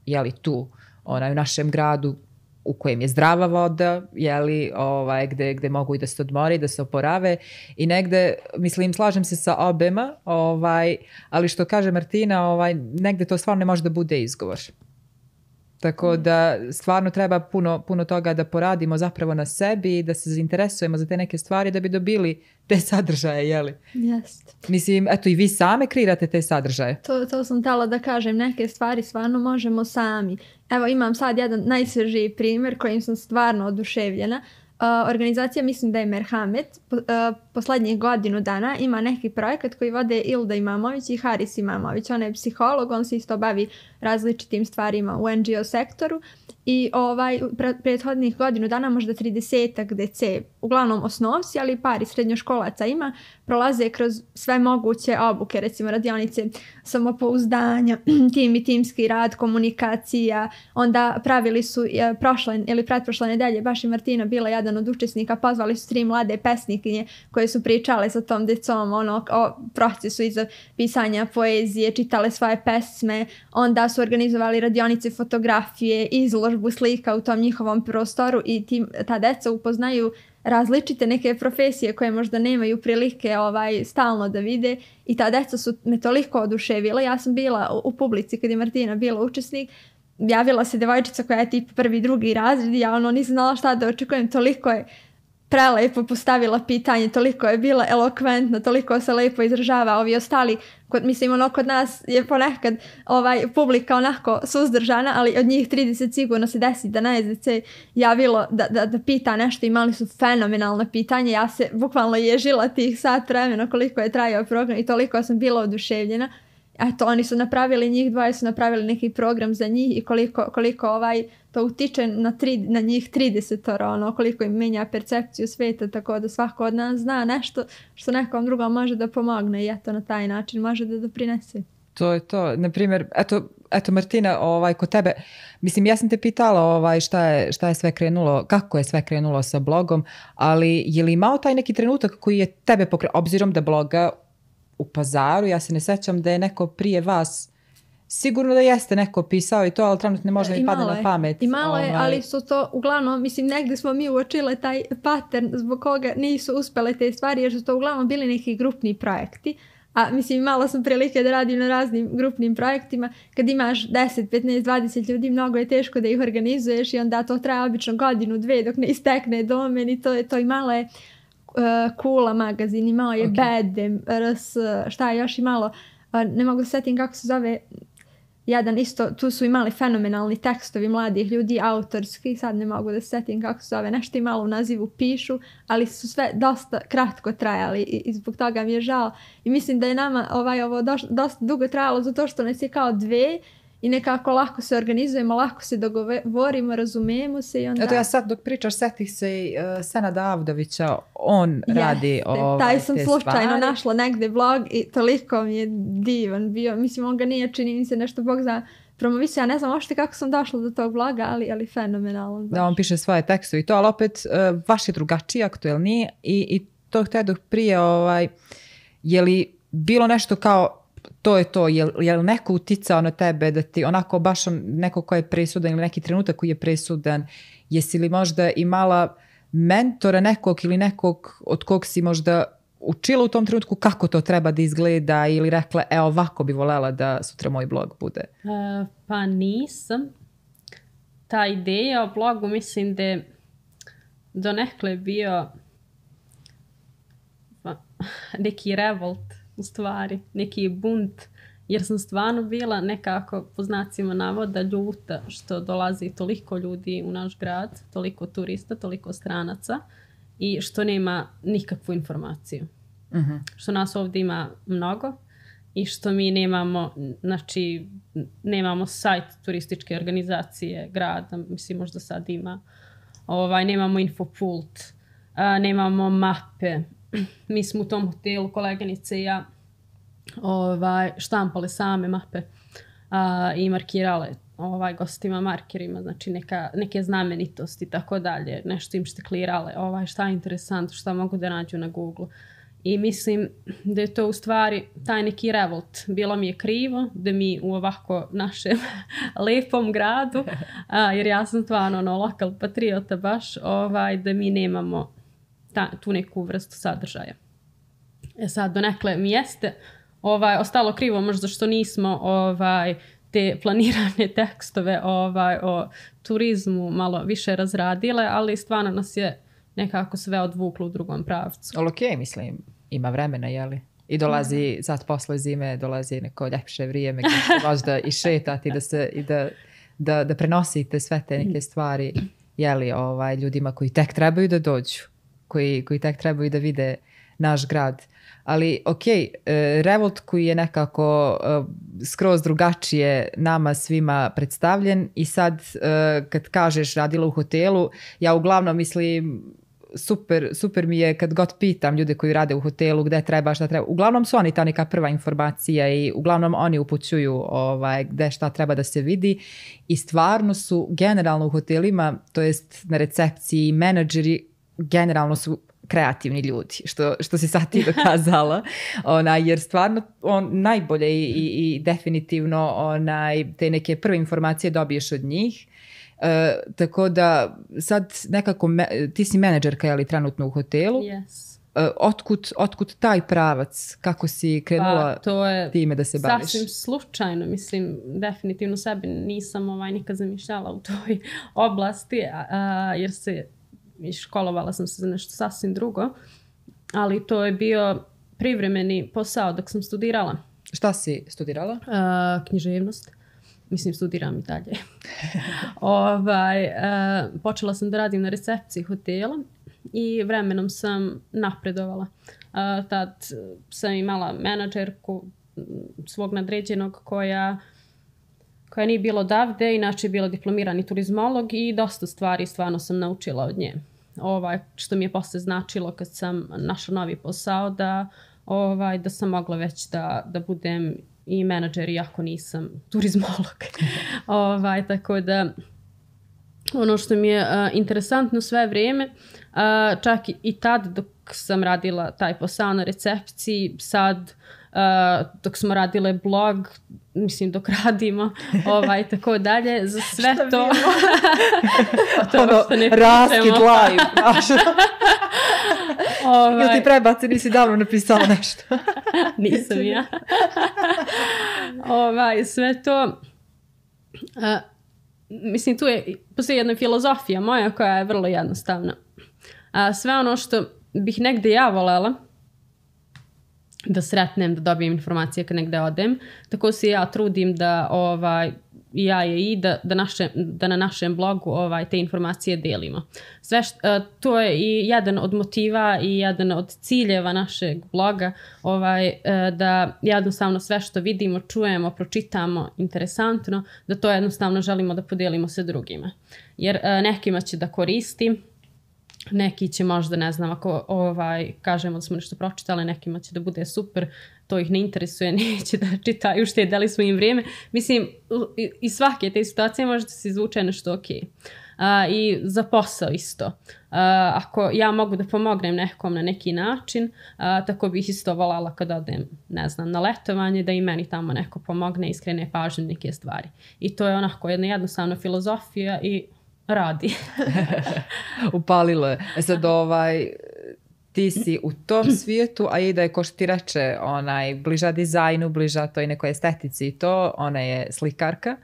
jeli, tu, onaj, u našem gradu, u kojem je zdrava voda, jeli, ovaj, gde, gde mogu i da se odmore, da se oporave i negde, mislim, slažem se sa obema, ovaj, ali što kaže Martina, ovaj, negde to stvarno ne može da bude izgovor. Tako da stvarno treba puno, puno toga da poradimo zapravo na sebi i da se zainteresujemo za te neke stvari da bi dobili te sadržaje, jeli? Jeste. Mislim, eto i vi same kreirate te sadržaje. To, to sam htjela da kažem, neke stvari stvarno možemo sami. Evo imam sad jedan najsvežiji primjer kojim sam stvarno oduševljena. Uh, organizacija, mislim da je Merhamet, po, uh, poslednjih godinu dana ima neki projekat koji vode Ilda Imamović i Haris Imamović. On je psiholog, on se isto bavi različitim stvarima u N G O sektoru i ovaj, pre, prethodnih godinu dana, možda tridesetak dece, uglavnom osnovci, ali par i srednjoškolaca ima, prolaze kroz sve moguće obuke, recimo radionice samopouzdanja, tim i timski rad, komunikacija, onda pravili su je, prošle ili pretprošle nedelje, baš i Martina bila jedan od učesnika, pozvali su tri mlade pesnikinje koje su pričale sa tom decom ono, o procesu iza pisanja poezije, čitale svoje pesme, onda su organizovali radionice fotografije, izložbu slika u tom njihovom prostoru i tim, ta deca upoznaju različite neke profesije koje možda nemaju prilike ovaj stalno da vide i ta deca su me toliko oduševila. Ja sam bila u, u publici kad je Martina bila učesnik, javila se devojčica koja je tip prvi, drugi razred i ja ono nisam znala šta da očekujem, toliko je prelepo postavila pitanje, toliko je bila elokventna, toliko se lepo izražava. Ovi ostali, kod, mislim ono kod nas je ponekad ovaj, publika onako suzdržana, ali od njih trideset sigurno se desi da na S D C javilo da, da, da pita nešto, imali su fenomenalna pitanja, ja se bukvalno ježila tih sat vremena koliko je trajao program i toliko sam bila oduševljena. Eto, oni su napravili, njih dvoje su napravili neki program za njih i koliko, koliko ovaj, to utiče na, tri, na njih tridesetoro, ono, koliko im menja percepciju sveta, tako da svako od nas zna nešto što nekom drugom može da pomogne i eto na taj način može da doprinese. To je to. Naprimjer, eto, eto Martina, ovaj, kod tebe, mislim, ja sam te pitala ovaj, šta, je, šta je sve krenulo, kako je sve krenulo sa blogom, ali je li imao taj neki trenutak koji je tebe pokrenuo, obzirom da bloga u Pazaru, ja se ne sećam da je neko prije vas, sigurno da jeste neko pisao i to, ali trenutno ne može mi pada na pamet. I malo je, ovaj. ali su to uglavnom, mislim, negdje smo mi uočile taj pattern zbog koga nisu uspele te stvari, jer su to uglavnom bili neki grupni projekti. A mislim, malo sam prilike da radim na raznim grupnim projektima. Kad imaš deset, petnaest, dvadeset ljudi, mnogo je teško da ih organizuješ i onda to traje obično godinu, dve dok ne istekne domen i to je to i malo je Uh, Kula magazin, imao je okay. Bedem, R S, šta je još imalo, uh, ne mogu se setim kako se zove, jedan isto, tu su imali fenomenalni tekstovi mladih ljudi, autorski, sad ne mogu da se setim kako se zove, nešto i malo u nazivu pišu, ali su sve dosta kratko trajali i, i zbog toga mi je žao. I mislim da je nama ovaj, ovo doš, dosta dugo trajalo zato što nas je kao dve i nekako lako se organizujemo, lako se dogovorimo, razumijemo se i onda... Eto ja sad dok pričaš, setih se i uh, Senada Avdovića, on yes, radi ovaj, taj sam te slučajno stvari. Našla negdje blog i toliko mi je divan bio. Mislim, on ga nije, čini mi se nešto, Bog zna, promovisao. Ja ne znam ošte kako sam došla do tog bloga, ali, ali fenomenalan. Da, on piše svoje tekstove i to, ali opet uh, vaš je drugačiji, aktuelniji i, i to htjedoh prije, ovaj, je li bilo nešto kao to je to, je, je li neko uticao na tebe da ti onako baš on, neko ko je presudan ili neki trenutak koji je presudan, jesi li možda imala mentora nekog ili nekog od kog si možda učila u tom trenutku kako to treba da izgleda ili rekla, e ovako bi volela da sutra moj blog bude? Uh, pa nisam. Ta ideja o blogu mislim da je donekle bio neki revolt, u stvari, neki bunt, jer sam stvarno bila nekako po znacima navoda ljuta što dolazi toliko ljudi u naš grad, toliko turista, toliko stranaca i što nema nikakvu informaciju. Uh-huh. Što nas ovdje ima mnogo i što mi nemamo, znači, nemamo sajt turističke organizacije grada, mislim možda sad ima, ovaj, nemamo infopult, a, nemamo mape. Mi smo u tom hotelu, koleginice i ja, ovaj, štampale same mape a, i markirale ovaj, gostima markerima, znači neka, neke znamenitosti i tako dalje, nešto im šteklirale, ovaj, šta je interesantno, šta mogu da nađu na Google. I mislim da je to u stvari taj neki revolt. Bilo mi je krivo da mi u ovako našem lepom gradu, a, jer ja sam stvarno ono, lokal patriota baš, ovaj, da mi nemamo ta, tu neku vrstu sadržaja. E sad, donekle mi jeste ovaj, ostalo krivo možda što nismo ovaj, te planirane tekstove ovaj, o turizmu malo više razradile, ali stvarno nas je nekako sve odvuklo u drugom pravcu. Ali okej, okay, mislim, ima vremena, jeli? I dolazi, mm. sad posle zime, dolazi neko ljepše vrijeme gdje će možda i šetati da se, i da, da, da prenosite sve te neke stvari, jeli, ovaj, ljudima koji tek trebaju da dođu, koji, koji tek trebaju da vide naš grad. Ali ok, Revolt koji je nekako skroz drugačije nama svima predstavljen i sad kad kažeš radila u hotelu, ja uglavnom mislim super, super mi je kad god pitam ljude koji rade u hotelu gde treba, šta treba. Uglavnom su oni ta neka prva informacija i uglavnom oni upućuju ovaj, gde šta treba da se vidi i stvarno su generalno u hotelima, to jest na recepciji, menadžeri generalno su kreativni ljudi, što, što si sad ti dokazala, onaj, jer stvarno on najbolje i, i, i definitivno onaj, te neke prve informacije dobiješ od njih. E, tako da sad nekako, me, ti si menadžerka, je li, trenutno u hotelu? Yes. E, otkud, otkud taj pravac? Kako si krenula pa, to je time da se baviš? Sasvim slučajno, mislim, definitivno sebi nisam ovaj, nikad zamišljala u toj oblasti, a, a, jer se i školovala sam se za nešto sasvim drugo, ali to je bio privremeni posao dok sam studirala. Šta si studirala? Uh, književnost. Mislim, studiram i dalje. ovaj, uh, počela sam da radim na recepciji hotela i vremenom sam napredovala. Uh, tad sam imala menadžerku svog nadređenog koja koja nije bila odavde, inače je bila diplomirani turizmolog i dosta stvari stvarno sam naučila od nje. Ovaj, što mi je posle značilo kad sam našla novi posao da, ovaj, da sam mogla već da, da budem i menadžer iako nisam turizmolog. ovaj, tako da ono što mi je uh, interesantno sve vrijeme, uh, čak i, i tad dok sam radila taj posao na recepciji, sad uh, dok smo radile blog, mislim dok radimo, ovaj, tako dalje, za sve to... to ono, raskid live. ovaj... Ili ti prebaci, nisi davno napisala nešto? Nisam ja. ovaj, sve to... Uh, mislim, tu je postoji jedna filozofija moja koja je vrlo jednostavna. Uh, sve ono što bih negde ja volela da sretnem, da dobijem informacije kad negde odem, tako se ja trudim da ovaj, ja je i da, da, naše, da na našem blogu ovaj, te informacije delimo. Sve št, uh, to je i jedan od motiva i jedan od ciljeva našeg bloga, ovaj, uh, da jednostavno sve što vidimo, čujemo, pročitamo interesantno, da to jednostavno želimo da podelimo sa drugima. Jer uh, nekima će da koristi, neki će možda, ne znam, ako ovaj, kažemo da smo nešto pročitali, nekima će da bude super, to ih ne interesuje, neće da čitaju, štedeli smo im vrijeme. Mislim, iz svake te situacije možda se izvuče nešto ok. Uh, I za posao isto. Uh, ako ja mogu da pomognem nekom na neki način, uh, tako bih isto voljela kad odem, ne znam, na letovanje, da i meni tamo neko pomogne, iskrene pažnje neke stvari. I to je onako jedna jednostavna filozofija i radi. Upalilo je. E sad ovaj, ti si u tom svijetu, a i da je, ko što ti reče, onaj, bliža dizajnu, bliža toj nekoj estetici i to, ona je slikarka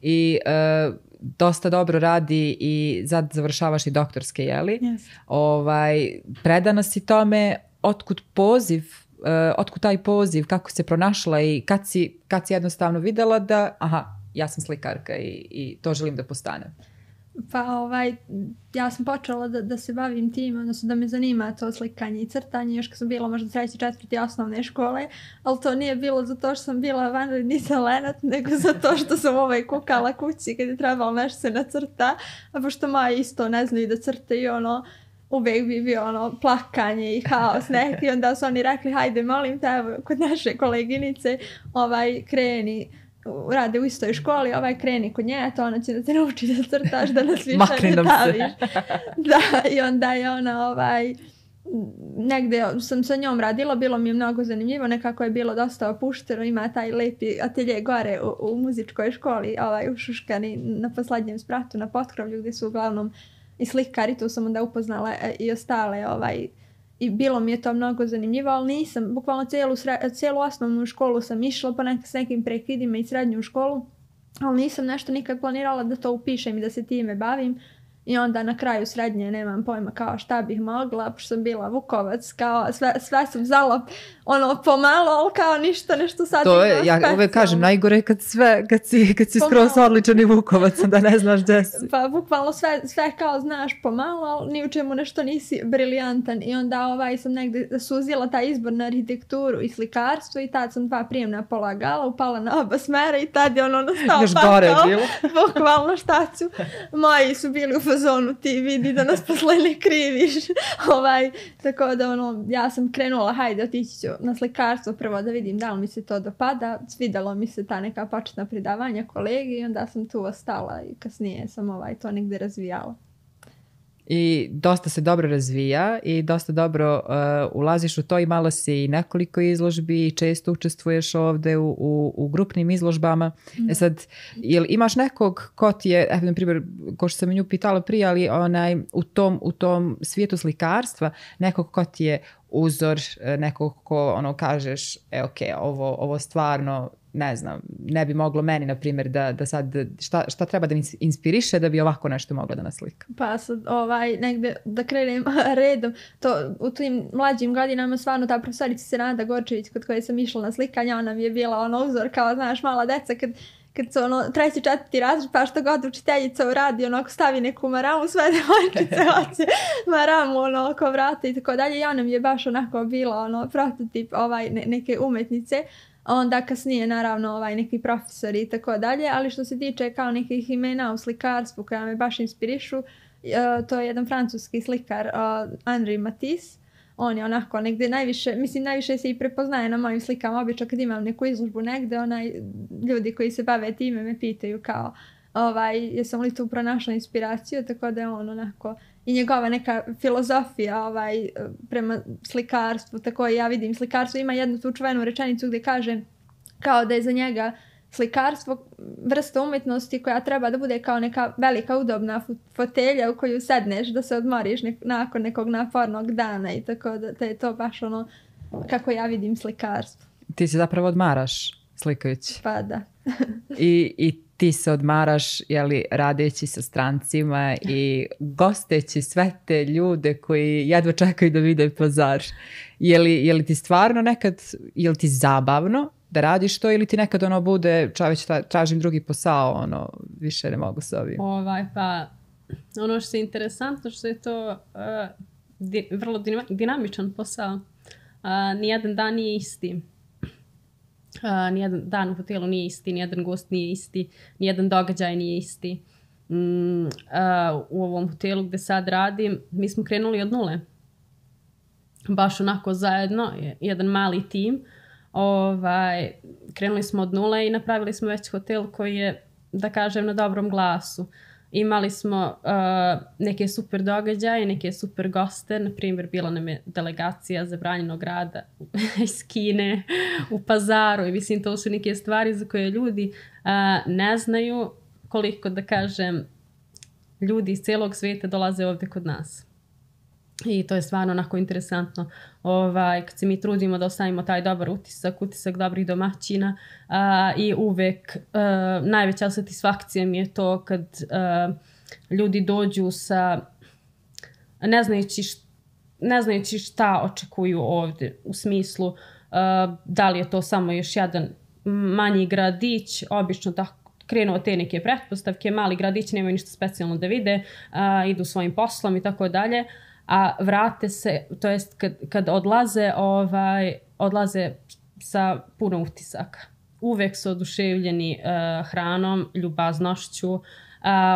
i e, dosta dobro radi i sad završavaš i doktorske, jeli? Yes. Ovaj, predana si tome, otkud poziv, e, otkud taj poziv, kako se pronašla i kad si, kad si jednostavno videla da, aha, ja sam slikarka i, i to želim da postanem. Pa ovaj, ja sam počela da, da se bavim tim, odnosno da me zanima to slikanje i crtanje, još kad sam bila možda treći, četvrti osnovne škole, ali to nije bilo zato što sam bila vanredni talenat, nego zato što sam ovaj kukala kući kad je trebalo nešto se nacrta, a pošto moji isto ne znaju da crte i ono, uvijek bi bio ono plakanje i haos neki, onda su oni rekli, hajde molim te, evo kod naše koleginice, ovaj kreni, rade u istoj školi, ovaj kreni kod nje, to ona će da te nauči da crtaš, da nas više ne daviš. Da, i onda je ona ovaj, negde sam sa njom radila, bilo mi je mnogo zanimljivo, nekako je bilo dosta opušteno, ima taj lepi atelje gore u, u muzičkoj školi, ovaj, u Šuškani, na poslednjem spratu, na potkrovlju, gdje su uglavnom i slikari, tu sam onda upoznala i ostale, ovaj, i bilo mi je to mnogo zanimljivo, ali nisam, bukvalno cijelu, cijelu osnovnu školu sam išla, pa nek, s nekim prekidima i srednju školu, ali nisam nešto nikad planirala da to upišem i da se time bavim. I onda na kraju srednje nemam pojma kao šta bih mogla, pošto sam bila Vukovac, kao sve, sve sam zala ono pomalo, ali kao ništa, nešto sad. To je, ja uvek kažem, najgore kad sve, kad si, kad si skroz odličan i Vukovac, da ne znaš gdje si. Pa bukvalno sve, sve kao znaš pomalo, ali ni u čemu nešto nisi briljantan. I onda ovaj sam negdje suzila taj izbor na arhitekturu i slikarstvo i tad sam dva prijemna polagala, upala na oba smera i tad je ono nastao još gore bilo. Bukvalno šta ću. Moji su bili u fazonu, ti vidi da nas posle ne kriviš. ovaj, tako da ono, ja sam krenula, hajde otići ću na slikarstvo prvo da vidim da li mi se to dopada. Svidalo mi se ta neka početna predavanja kolegi i onda sam tu ostala i kasnije sam ovaj, to negdje razvijala. I dosta se dobro razvija i dosta dobro uh, ulaziš u to, i malo si i nekoliko izložbi i često učestvuješ ovdje u, u, u grupnim izložbama. Mm. E sad, jel imaš nekog ko ti je, evo na primjer, ko što sam nju pitala prije, ali onaj, u, tom, u tom svijetu slikarstva, nekog ko ti je uzor, nekog ko ono kažeš, e ok, ovo, ovo stvarno, ne znam, ne bi moglo meni, na primjer, da, da sad, šta, šta treba da mi inspiriše da bi ovako nešto moglo da naslika? Pa sad, ovaj, negdje da krenem redom, to u tim mlađim godinama stvarno ta profesorica Senada Gorčević kod koje sam išla na slikanje, ona mi je bila ono uzor kao, znaš, mala deca kad kad su ono treći, četvrti razred, pa što god učiteljica uradi, onako stavi neku maramu, sve devojčice hoće maramu ono oko vrata i tako dalje. I ona mi je baš onako bila ono prototip ovaj, ne, neke umetnice. Onda kasnije naravno ovaj, neki profesori i tako dalje, ali što se tiče kao nekih imena u slikarstvu koja me baš inspirišu, uh, to je jedan francuski slikar, uh, Henri Matisse. On je onako negdje najviše, mislim najviše se i prepoznaje na mojim slikama. Obično kad imam neku izložbu negdje, onaj, ljudi koji se bave time me pitaju kao ovaj, jesam li tu pronašla inspiraciju, tako da je on onako i njegova neka filozofija ovaj, prema slikarstvu, tako i ja vidim slikarstvo. Ima jednu tu čuvenu rečenicu gdje kaže kao da je za njega slikarstvo vrsta umjetnosti koja treba da bude kao neka velika udobna fotelja u koju sedneš da se odmoriš nek- nakon nekog napornog dana i tako da, da je to baš ono kako ja vidim slikarstvo. Ti se zapravo odmaraš slikajući. Pa da. I, i ti se odmaraš, jeli, radeći sa strancima i gosteći sve te ljude koji jedva čekaju da vide Pazar. Je li, je li ti stvarno nekad, je li ti zabavno da radiš to ili ti nekad ono bude, čovječ, tražim drugi posao, ono, više ne mogu s ovim? Ovaj, pa, ono što je interesantno, što je to uh, di, vrlo dinamičan posao. Uh, nijedan dan nije isti. Uh, nijedan dan u hotelu nije isti, nijedan gost nije isti, nijedan događaj nije isti. Mm, uh, u ovom hotelu gdje sad radim, mi smo krenuli od nule. Baš onako zajedno, jedan mali tim. Ovaj, krenuli smo od nule i napravili smo već hotel koji je, da kažem, na dobrom glasu. Imali smo uh, neke super događaje, neke super goste. Na primjer, bila nam je delegacija zabranjenog rada iz Kine u Pazaru. I mislim, to su neke stvari za koje ljudi uh, ne znaju koliko, da kažem, ljudi iz cijelog svijeta dolaze ovdje kod nas. I to je stvarno onako interesantno. Ovaj, kad se mi trudimo da ostavimo taj dobar utisak, utisak dobrih domaćina uh, i uvek uh, najveća satisfakcija mi je to kad uh, ljudi dođu sa ne znajući, št, ne znajući šta očekuju ovdje u smislu uh, da li je to samo još jedan manji gradić, obično tako krenuo te neke pretpostavke, mali gradić nemaju ništa specijalno da vide, uh, idu svojim poslom i tako dalje. A vrate se, to jest kad, kad odlaze, ovaj, odlaze sa puno utisaka. Uvek su oduševljeni uh, hranom, ljubaznošću, uh,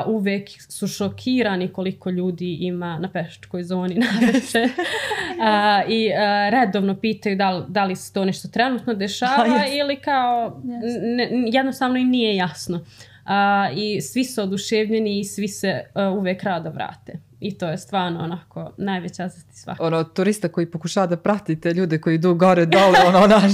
uvek su šokirani koliko ljudi ima na pešačkoj zoni naveče uh, i uh, redovno pitaju da li, da li se to nešto trenutno dešava yes. ili kao ne, jednostavno im nije jasno. Uh, I svi su oduševljeni i svi se uh, uvek rado vrate. I to je stvarno onako najveća satisfakcija. Ono, turista koji pokušava da prati te ljude koji idu gore, dole, ono, naš,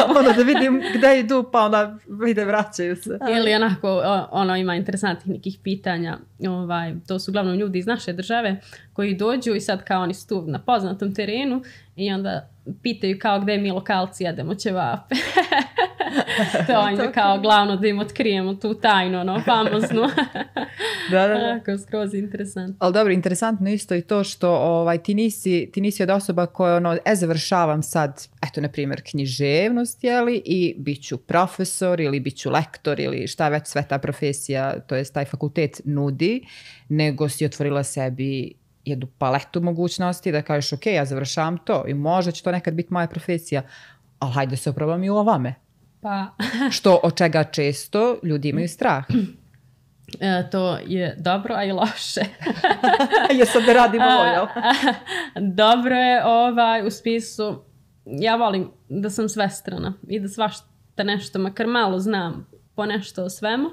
ono, da vidim gde idu, pa onda vide, vraćaju se. Ili onako, ono, ima interesantnih nekih pitanja, ovaj, to su uglavnom ljudi iz naše države koji dođu i sad kao oni su tu na poznatom terenu i onda pitaju kao gde mi lokalci jedemo ćevape. To je kao glavno da im otkrijemo tu tajnu, no, famoznu. Da, da, da. Tako, skroz interesantno. Ali dobro, interesantno isto i to što ovaj, ti, nisi, ti nisi od osoba koja ono, e, završavam sad, eto, na primjer, književnost, jeli, i bit ću profesor ili bit ću lektor ili šta već sve ta profesija, to jest taj fakultet nudi, nego si otvorila sebi jednu paletu mogućnosti da kažeš, ok, ja završavam to i možda će to nekad biti moja profesija, ali hajde se oprobam i u ovame. Pa... Što od čega često ljudi imaju strah. E, to je dobro, a i loše. Jer sad ne radimo ovo, jel? Dobro je ovaj, u spisu, ja volim da sam svestrana i da svašta nešto, makar malo znam po nešto o svemu,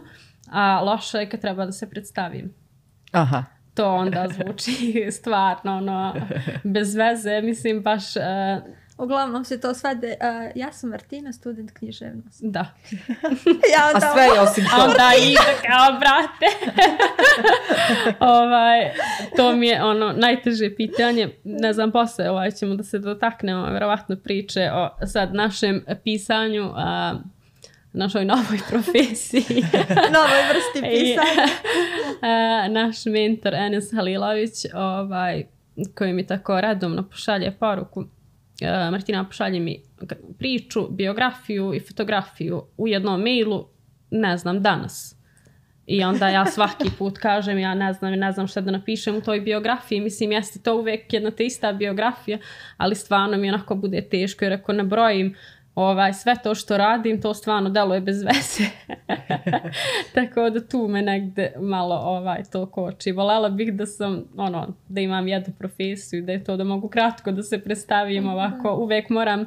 a loše je kad treba da se predstavim. Aha. To onda zvuči stvarno ono, bez veze, mislim baš... Uh, Uglavnom se to svede, uh, ja sam Martina, student književnosti. Da. Ja onda... A sve je osim to. Onda i kao, brate. ovaj, to mi je ono najteže pitanje. Ne znam, posle ovaj, ćemo da se dotaknemo vjerovatno priče o sad našem pisanju, uh, našoj novoj profesiji. Novoj vrsti pisanja. I, uh, naš mentor Enes Halilović, ovaj, koji mi tako redovno pošalje poruku. Uh, Martina, pošalje mi priču, biografiju i fotografiju u jednom mailu, ne znam, danas. I onda ja svaki put kažem, ja ne znam, ne znam šta da napišem u toj biografiji. Mislim, jeste to uvek jedna te ista biografija, ali stvarno mi onako bude teško, jer ako nabrojim ovaj, sve to što radim, to stvarno deluje bez veze. Tako da tu me negde malo ovaj, to koči. Volela bih da sam, ono, da imam jednu profesiju, da je to da mogu kratko da se predstavim ovako. Uvek moram, uh,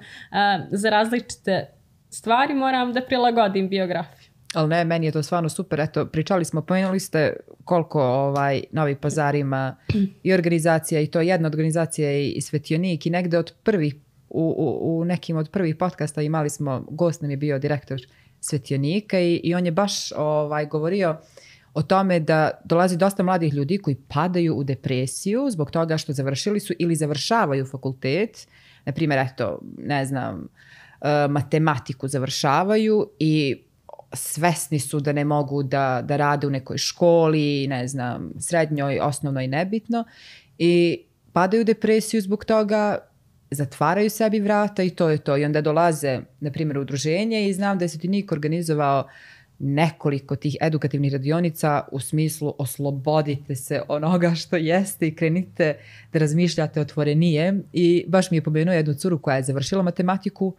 za različite stvari moram da prilagodim biografiju. Ali ne, meni je to stvarno super. Eto, pričali smo, pomenuli ste koliko ovaj, Novi Pazar ima i organizacija, i to jedna organizacija i, i Svetionik, i negde od prvih U, u, u nekim od prvih podcasta imali smo, gost nam je bio direktor Svetionika i, i on je baš ovaj, govorio o tome da dolazi dosta mladih ljudi koji padaju u depresiju zbog toga što završili su ili završavaju fakultet, na primjer, eto, ne znam, matematiku završavaju i svesni su da ne mogu da, da rade u nekoj školi, ne znam, srednjoj, osnovnoj, nebitno, i padaju u depresiju zbog toga, zatvaraju sebi vrata i to je to. I onda dolaze, na primjer, u udruženje i znam da je Svetionik organizovao nekoliko tih edukativnih radionica u smislu oslobodite se onoga što jeste i krenite da razmišljate otvorenije. I baš mi je pomenuo jednu curu koja je završila matematiku,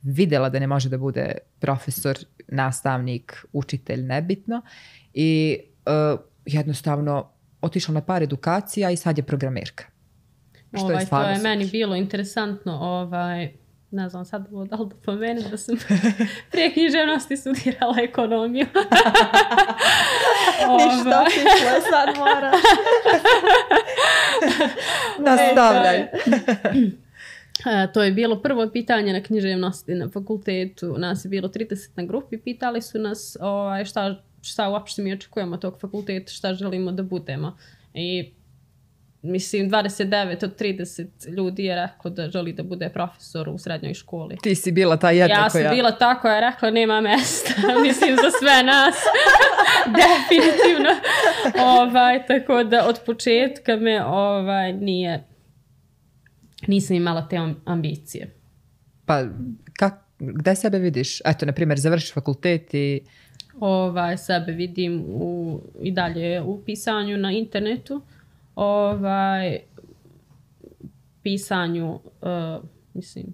videla da ne može da bude profesor, nastavnik, učitelj, nebitno, i uh, jednostavno otišla na par edukacija i sad je programerka. Što ovaj, je to je super. meni bilo interesantno, ovaj, ne znam sad da li da pomenem da sam prije književnosti studirala ekonomiju. Ništa, otišla je, sad moraš. Nastavljaj. E, to je bilo prvo pitanje na književnosti na fakultetu. Nas je bilo trideset na grupi. Pitali su nas ovaj, šta, šta uopšte mi očekujemo od tog fakulteta, šta želimo da budemo. I mislim, dvadeset devet od trideset ljudi je reklo da želi da bude profesor u srednjoj školi. Ti si bila ta jedna ja koja... Ja sam bila ta koja je rekla nema mesta. Mislim, za sve nas. Definitivno. Ovaj, tako da od početka me ovaj, nije... Nisam imala te ambicije. Pa, kak, gde sebe vidiš? Eto, na primjer, završiš fakultet i... Ovaj, sebe vidim u, i dalje u pisanju na internetu. Ovaj, pisanju, uh, mislim,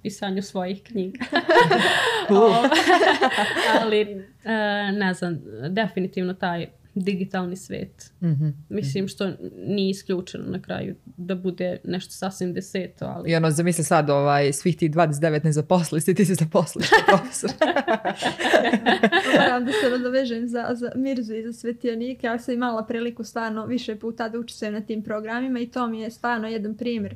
pisanju svojih knjiga. uh. Ali, uh, ne znam, definitivno taj digitalni svet. Mm-hmm. Mislim što nije isključeno na kraju da bude nešto sasvim deseto. Ali... I ono, zamisli sad, ovaj, svih ti dvadeset devet ne zaposli, ti se zaposliš kao profesor. Moram da se nadovežem za, za Mirzu i za Svetionik. Ja sam imala priliku stvarno više puta da učestvujem na tim programima i to mi je stvarno jedan primjer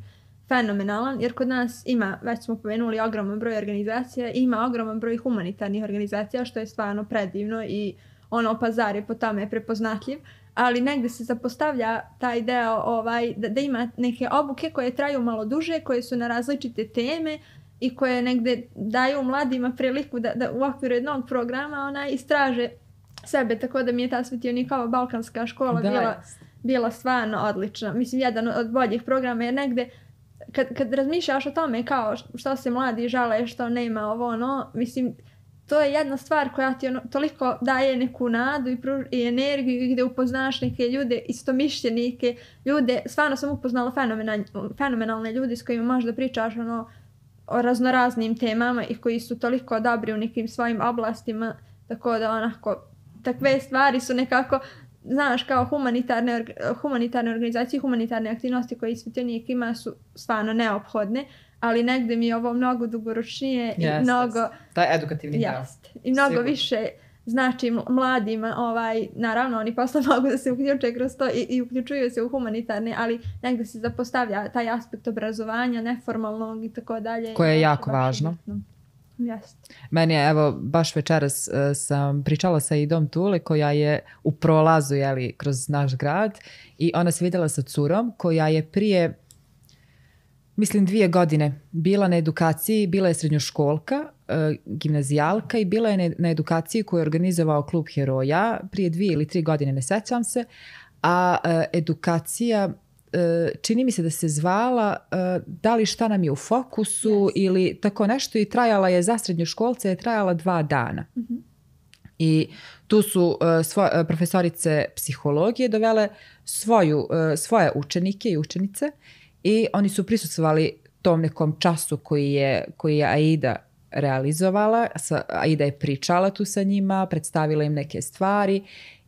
fenomenalan, jer kod nas ima, već smo pomenuli, ogroman broj organizacija, ima ogroman broj humanitarnih organizacija, što je stvarno predivno i ono, Pazar je po tome prepoznatljiv, ali negde se zapostavlja taj deo ovaj, da, da ima neke obuke koje traju malo duže, koje su na različite teme i koje negde daju mladima priliku da, da u okviru jednog programa ona istraže sebe, tako da mi je ta Svetionikova balkanska škola da, bila, bila stvarno odlična. Mislim, jedan od boljih programa jer negde kad, kad razmišljaš o tome kao što se mladi žale, što nema ovo ono, mislim, to je jedna stvar koja ti ono, toliko daje neku nadu i, pruž, i energiju gdje upoznaš neke ljude, istomišljenike, ljude, stvarno sam upoznala fenomenalne, fenomenalne ljude s kojima možda pričaš ono, o raznoraznim temama i koji su toliko dobri u nekim svojim oblastima, tako da onako, takve stvari su nekako, znaš, kao humanitarne, humanitarne organizacije, humanitarne aktivnosti koje Svetionik ima su stvarno neophodne, ali negde mi je ovo mnogo dugoročnije yes, i mnogo... Yes. Taj edukativni deo. I mnogo Sigur. više znači mladima, ovaj, naravno oni posle mogu da se uključe kroz to i, i uključuju se u humanitarne, ali negde se zapostavlja taj aspekt obrazovanja, neformalnog i tako dalje. Koje je jako važno. Jeste. Meni je, evo, baš večeras uh, sam pričala sa Idom Tule koja je u prolazu, jeli, kroz naš grad i ona se vidjela sa curom koja je prije, mislim, dvije godine bila na edukaciji, bila je srednjoškolka, uh, gimnazijalka i bila je na, na edukaciji koju je organizovao Klub heroja prije dvije ili tri godine, ne sećam se, a uh, edukacija čini mi se da se zvala da li šta nam je u fokusu yes. ili tako nešto i trajala je za srednjoškolce je trajala dva dana. Mm-hmm. I tu su svo, profesorice psihologije dovele svoju, svoje učenike i učenice i oni su prisustvovali tom nekom času koji je, koji je Aida realizovala. Aida je pričala tu sa njima, predstavila im neke stvari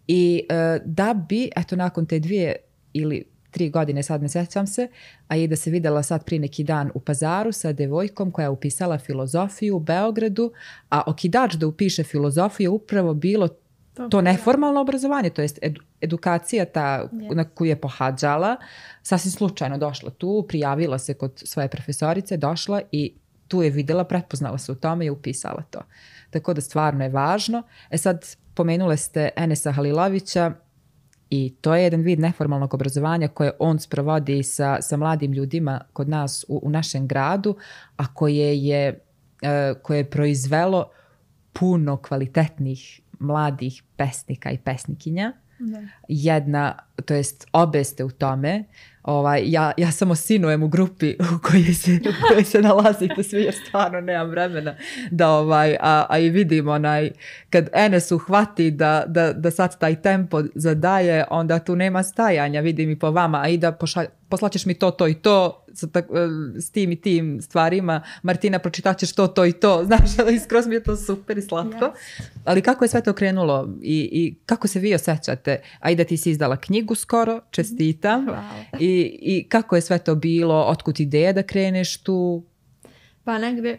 i da bi, eto nakon te dvije ili tri godine, sad ne sjećam se, a i da se vidjela sad prije neki dan u Pazaru sa devojkom koja je upisala filozofiju u Beogradu, a okidač da upiše filozofiju je upravo bilo to, to neformalno obrazovanje, to jest edu, edukacija ta yes. na koju je pohađala, sasvim slučajno došla tu, prijavila se kod svoje profesorice, došla i tu je vidjela, prepoznala se u tome i upisala to. Tako da stvarno je važno. E sad, pomenule ste Enesa Halilovića, i to je jedan vid neformalnog obrazovanja koje on sprovodi sa, sa mladim ljudima kod nas u, u našem gradu, a koje je, e, koje je proizvelo puno kvalitetnih mladih pesnika i pesnikinja. Ne. Jedna, to jest obe ste u tome. Ovaj, ja, ja samo sinujem u grupi u kojoj se, u kojoj se nalazite svi jer stvarno nemam vremena da ovaj, a, a i vidim onaj, kad Enes uhvati da, da, da sad taj tempo zadaje, onda tu nema stajanja, vidim i po vama, a i da pošalj, poslaćeš mi to, to i to s, s tim i tim stvarima, Martina pročitaćeš to, to i to, znaš, ali skroz mi je to super i slatko. Yes. Ali kako je sve to krenulo i, i kako se vi osjećate? Aida, ti si izdala knjigu skoro, čestitam. I I, i kako je sve to bilo, otkud ideja da kreneš tu? Pa negdje,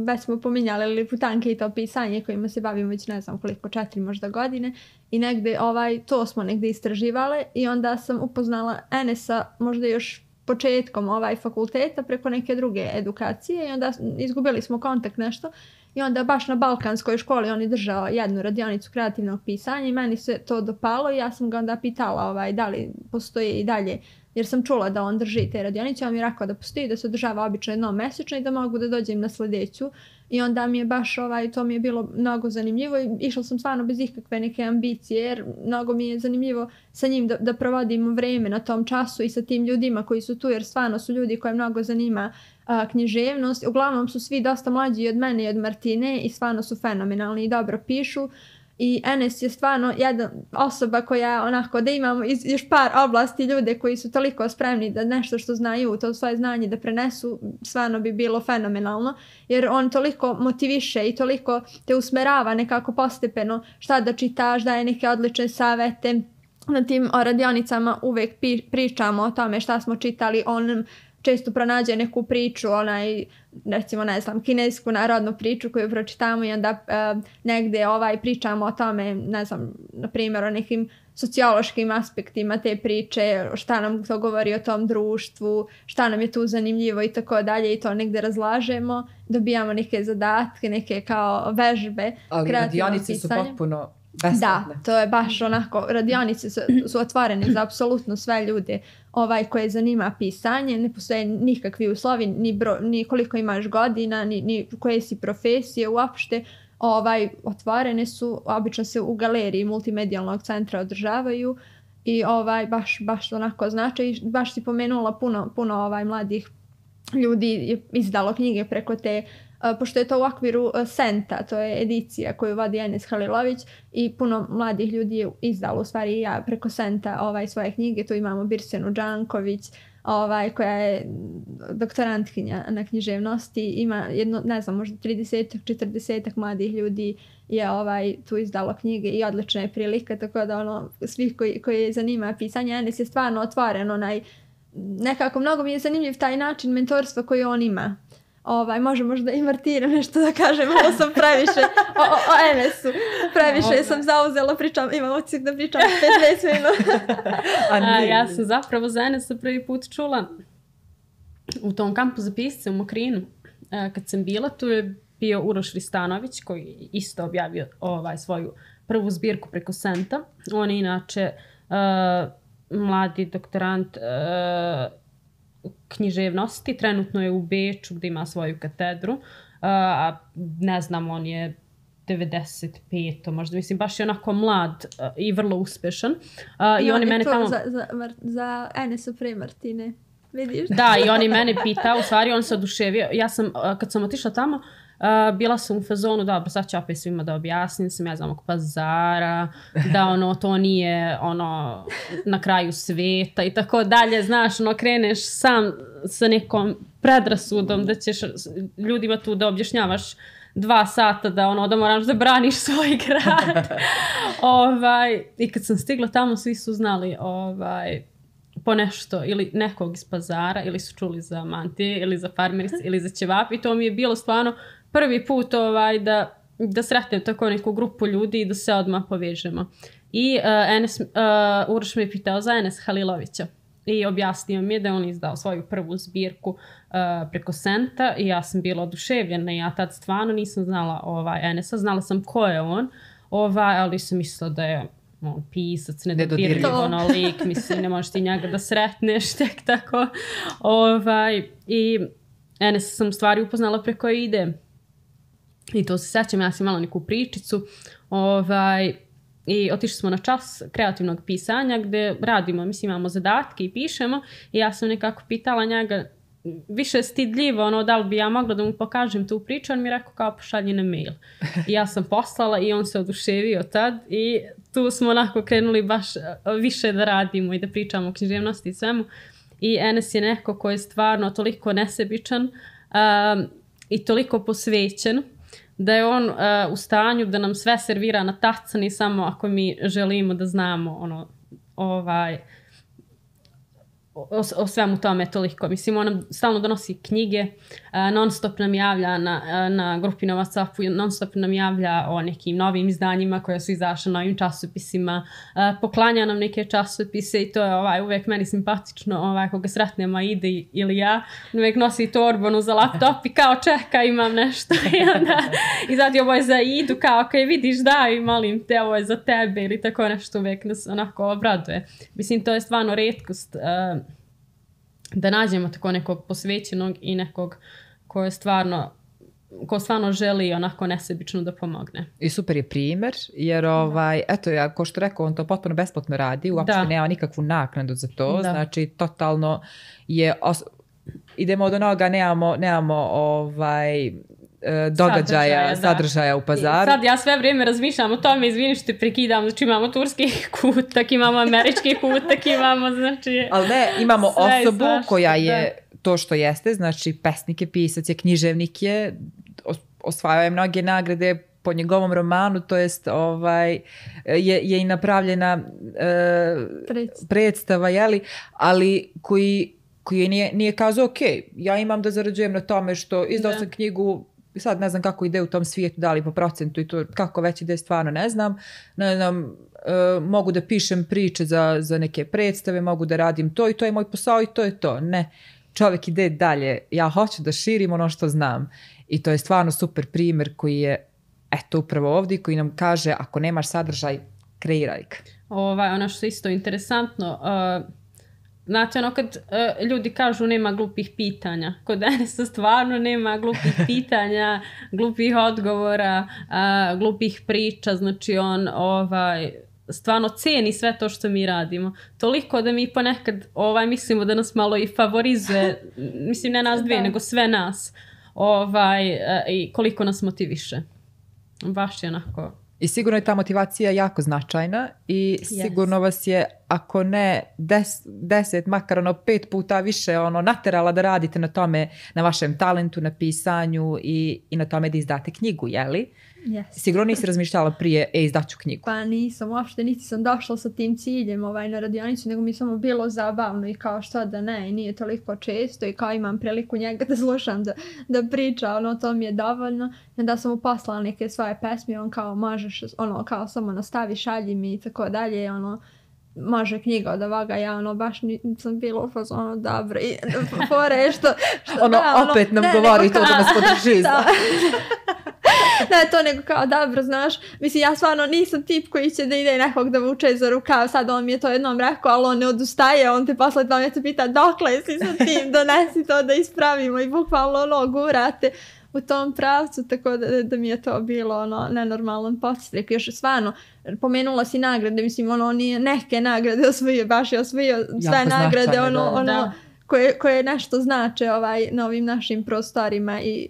već smo pominjali Liputanke i to pisanje kojima se bavimo već ne znam koliko, četiri možda godine i negdje ovaj, to smo negdje istraživale i onda sam upoznala Enesa možda još početkom ovaj fakulteta preko neke druge edukacije i onda izgubili smo kontakt nešto i onda baš na Balkanskoj školi on je držao jednu radionicu kreativnog pisanja i meni se to dopalo i ja sam ga onda pitala ovaj, da li postoji i dalje, jer sam čula da on drži te radionice, on mi je rekao da postoji, da se održava obično jednom mesečno i da mogu da dođem na sljedeću i onda mi je baš ovaj, to mi je bilo mnogo zanimljivo i išla sam stvarno bez ikakve neke ambicije jer mnogo mi je zanimljivo sa njim da, da provodimo vreme na tom času i sa tim ljudima koji su tu jer stvarno su ljudi koje mnogo zanima a, književnost. Uglavnom su svi dosta mlađi od mene i od Martine i stvarno su fenomenalni i dobro pišu. I Enes je stvarno jedna osoba koja onako da imamo iz, još par oblasti ljude koji su toliko spremni da nešto što znaju, to svoje znanje da prenesu, stvarno bi bilo fenomenalno. Jer on toliko motiviše i toliko te usmerava nekako postepeno šta da čitaš, daje neke odlične savete. Na tim radionicama uvek pi, pričamo o tome šta smo čitali, on često pronađe neku priču, onaj, recimo, ne znam, kinesku narodnu priču koju pročitamo i onda uh, negde ovaj, pričamo o tome, ne znam, na primjer o nekim sociološkim aspektima te priče, šta nam to govori o tom društvu, šta nam je tu zanimljivo i tako dalje i to negde razlažemo, dobijamo neke zadatke, neke kao vežbe. Ali radionice su potpuno Besplatne. Da, to je baš onako, radionice su, su otvorene za apsolutno sve ljude ovaj, koje zanima pisanje, ne postoje nikakvi uslovi, ni, bro, ni koliko imaš godina, ni, ni koje si profesije uopšte, ovaj, otvorene su, obično se u galeriji multimedijalnog centra održavaju i ovaj, baš, baš onako znači, i baš si pomenula puno, puno ovaj, mladih ljudi je izdalo knjige preko te, uh, pošto je to u okviru uh, Senta, to je edicija koju vodi Enes Halilović i puno mladih ljudi je izdalo u stvari ja preko Senta ovaj, svoje knjige, tu imamo Birsenu Đanković, ovaj, koja je doktorantkinja na književnosti, ima jedno, ne znam, možda trideset četrdeset mladih ljudi je ovaj, tu izdalo knjige i odlična je prilika, tako da ono, svih koji, koji zanima pisanje, Enes je stvarno otvoren, onaj, nekako mnogo mi je zanimljiv taj način mentorstva koji on ima. Ovaj, može možda i Martina nešto da kažem, ovo sam previše o, o, o Enesu, previše sam zauzela, pričam, imam odsjek da pričam petnaest minuta. A, ja sam zapravo za Enesa prvi put čula u tom kampu za pisce u Mokrinu. Kad sam bila, tu je bio Uroš Ristanović koji isto objavio ovaj, svoju prvu zbirku preko Senta. On je inače uh, mladi doktorant uh, književnosti, trenutno je u Beču gdje ima svoju katedru, uh, a ne znam, on je devedeset pet možda, mislim, baš je onako mlad uh, i vrlo uspešan. Uh, I, I on, on je mene tamo... za, za, za Enesa pre Martine, vidiš? Da, i on je mene pitao, u stvari on se oduševio. Ja sam, uh, kad sam otišla tamo, Uh, bila sam u fazonu, dobro, sad ću opet svima da objasnim, sam ja znam oko pazara, da ono, to nije ono, na kraju sveta i tako dalje, znaš, ono, kreneš sam sa nekom predrasudom da ćeš ljudima tu da objašnjavaš dva sata da ono, da moraš da braniš svoj grad. ovaj, I kad sam stigla tamo, svi su znali ovaj, po nešto, ili nekog iz pazara, ili su čuli za mantije, ili za farmerice, ili za ćevap, i to mi je bilo stvarno prvi put ovaj, da, da sretnem tako neku grupu ljudi i da se odmah povežemo. I uh, Enes, uh, Uroš me je pitao za Enes Halilovića i objasnio mi je da on izdao svoju prvu zbirku uh, preko Senta i ja sam bila oduševljena. Ja tad stvarno nisam znala ovaj, Enesa, znala sam ko je on, ovaj, ali sam mislila da je on pisac, nedodirljiv ono lik, mislim, ne možeš ti njega da sretneš tek tako. Ovaj, I Enes sam stvari upoznala preko ide. I to se sećam, ja sam imala neku pričicu ovaj, i otišli smo na čas kreativnog pisanja gdje radimo, mislim, imamo zadatke i pišemo i ja sam nekako pitala njega, više stidljivo, ono, da li bi ja mogla da mu pokažem tu priču, on mi je rekao kao pošalji na mail. I ja sam poslala i on se oduševio tad i tu smo onako krenuli baš više da radimo i da pričamo o književnosti i svemu. I Enes je neko koji je stvarno toliko nesebičan um, i toliko posvećen da je on uh, u stanju da nam sve servira na tacani samo ako mi želimo da znamo ono, ovaj, o, o svemu tome toliko. Mislim, on nam stalno donosi knjige, uh, non stop nam javlja na, na grupi na WhatsAppu, non stop nam javlja o nekim novim izdanjima koja su izašla, novim časopisima, uh, poklanja nam neke časopise i to je ovaj, uvijek meni simpatično, ovaj, koga sretnemo ide ili ja, uvijek nosi torbonu za laptop i kao čeka, imam nešto i onda izvadi ovo je za Idu, kao kaj vidiš daj, molim te, ovo je za tebe ili tako nešto, uvijek nas onako obraduje. Mislim, to je stvarno retkost uh, da nađemo tako nekog posvećenog i nekog ko je stvarno ko stvarno želi onako nesebično da pomogne. I super je primjer, jer ovaj, eto, ja, ko što rekao, on to potpuno besplatno radi, uopšte da. Nema nikakvu naknadu za to, da. Znači totalno je, os- idemo od onoga, nemamo, nemamo ovaj, događaja, sadržaja, sadržaja u pazaru. I sad ja sve vrijeme razmišljam o tome, izvini što te prekidam, znači imamo turski kutak, imamo američki kutak, imamo znači... Ali ne, imamo osobu svašta, koja je da. To što jeste, znači pesnik je, pisac je, književnik je, osvajao je mnoge nagrade po njegovom romanu, to jest ovaj, je, je i napravljena e, predstava, predstava jeli, ali koji, koji nije, nije kazao, ok, ja imam da zarađujem na tome što izdao sam knjigu, sad ne znam kako ide u tom svijetu, da li po procentu i to kako već ide, stvarno ne znam. Ne znam, e, mogu da pišem priče za, za neke predstave, mogu da radim to i to je moj posao i to je to. Ne, čovjek ide dalje. Ja hoću da širim ono što znam. I to je stvarno super primjer koji je eto upravo ovdje, koji nam kaže ako nemaš sadržaj, kreiraj ga. Ovaj, ono što je isto interesantno, uh, znate ono kad uh, ljudi kažu nema glupih pitanja, kod Enesa stvarno nema glupih pitanja, glupih odgovora, uh, glupih priča, znači on ovaj, stvarno cijeni sve to što mi radimo. Toliko da mi ponekad ovaj, mislimo da nas malo i favorizuje, mislim ne nas dvije, nego sve nas, ovaj, uh, i koliko nas motiviše. Baš je onako... I sigurno je ta motivacija jako značajna i sigurno yes. vas je, ako ne des, deset, makar ono pet puta više ono naterala da radite na tome, na vašem talentu, na pisanju i, i na tome da izdate knjigu, jeli? Yes. Sigurno nisi razmišljala prije, e, izdaću knjigu. Pa nisam, uopšte niti sam došla sa tim ciljem ovaj, na radionicu, nego mi samo bilo zabavno i kao što da ne, i nije toliko često i kao imam priliku njega da slušam, da, da priča, ono, to mi je dovoljno. I onda sam mu poslala neke svoje pesme, on kao možeš, ono, kao samo nastavi, šalji mi i tako dalje, ono, može knjiga od ovoga, ja ono baš nisam bila u fazonu dobro i fore što, što ono, da, ono, opet nam ne, govori nego, to da nas podrži. Da. Ne, to nego kao dobro, znaš, mislim ja stvarno nisam tip koji će da ide nekog da vuče za rukav, sad on mi je to jednom rekao, ali on ne odustaje, on te posle dva mjeseca pita dokle si sa tim, donesi to da ispravimo i bukvalno ono gurate u tom pravcu, tako da, da mi je to bilo ono nenormalan podsjetnik. Još stvarno, pomenula si nagrade, mislim ono nije neke nagrade osvojio, baš je osvojio sve jako nagrade, ono, da, ono da. Koje, koje nešto znače ovaj, na ovim našim prostorima i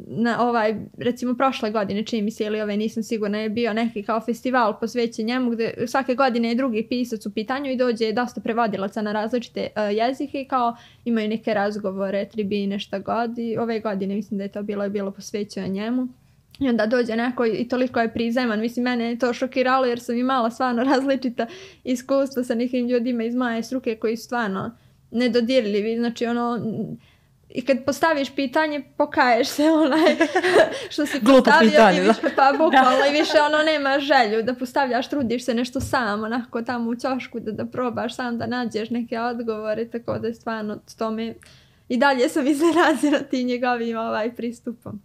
na ovaj, recimo prošle godine, čini mi se ili ove nisam sigurna, je bio neki kao festival posvećen njemu gdje svake godine je drugi pisac u pitanju i dođe dosta prevodilaca na različite uh, jezike i kao imaju neke razgovore, tribine, šta god i ove godine mislim da je to bilo, je bilo posvećeno njemu. I onda dođe neko i toliko je prizeman, mislim mene je to šokiralo jer sam imala stvarno različita iskustva sa nekim ljudima iz moje struke koji su stvarno nedodirljivi, znači ono... I kad postaviš pitanje, pokaješ se onaj što si postavio pitanje, i više, pa bukvalno i više ono nema želju da postavljaš, trudiš se nešto sam, onako tamo u ćošku da, da probaš sam da nađeš neke odgovore, tako da je stvarno tome i dalje sam iznenađena tim njegovim ovaj pristupom.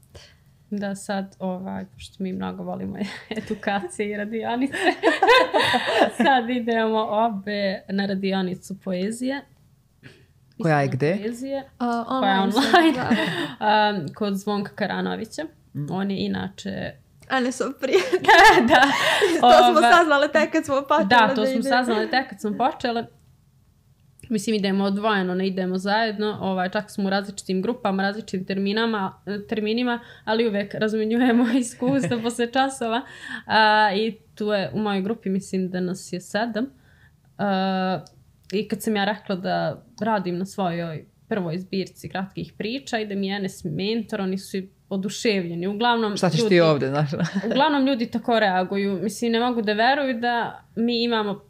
Da sad, ovaj, pošto mi mnogo volimo edukacije i radionice, sad idemo obe na radionicu poezije. Koja je gde? Poezije, uh, koja je online, um, kod Zvonka Karanovića. Mm. On je inače... Enesov prijatelj. Da. To Ova... smo saznali tek kad smo počeli. Da, to da smo saznali tek kad smo počeli. Mislim, idemo odvojeno, ne idemo zajedno. Ovaj, čak smo u različitim grupama, različitim terminama, terminima, ali uvijek razmenjujemo iskustva posle časova. Uh, I tu je u mojoj grupi, mislim da nas je sedam. Uh, I kad sam ja rekla da radim na svojoj prvoj zbirci kratkih priča i da mi je Enes mentor, oni su oduševljeni. Uglavnom, šta ćeš ljudi, ti ovdje, znaš? Uglavnom ljudi tako reaguju. Mislim, ne mogu da veruju da mi imamo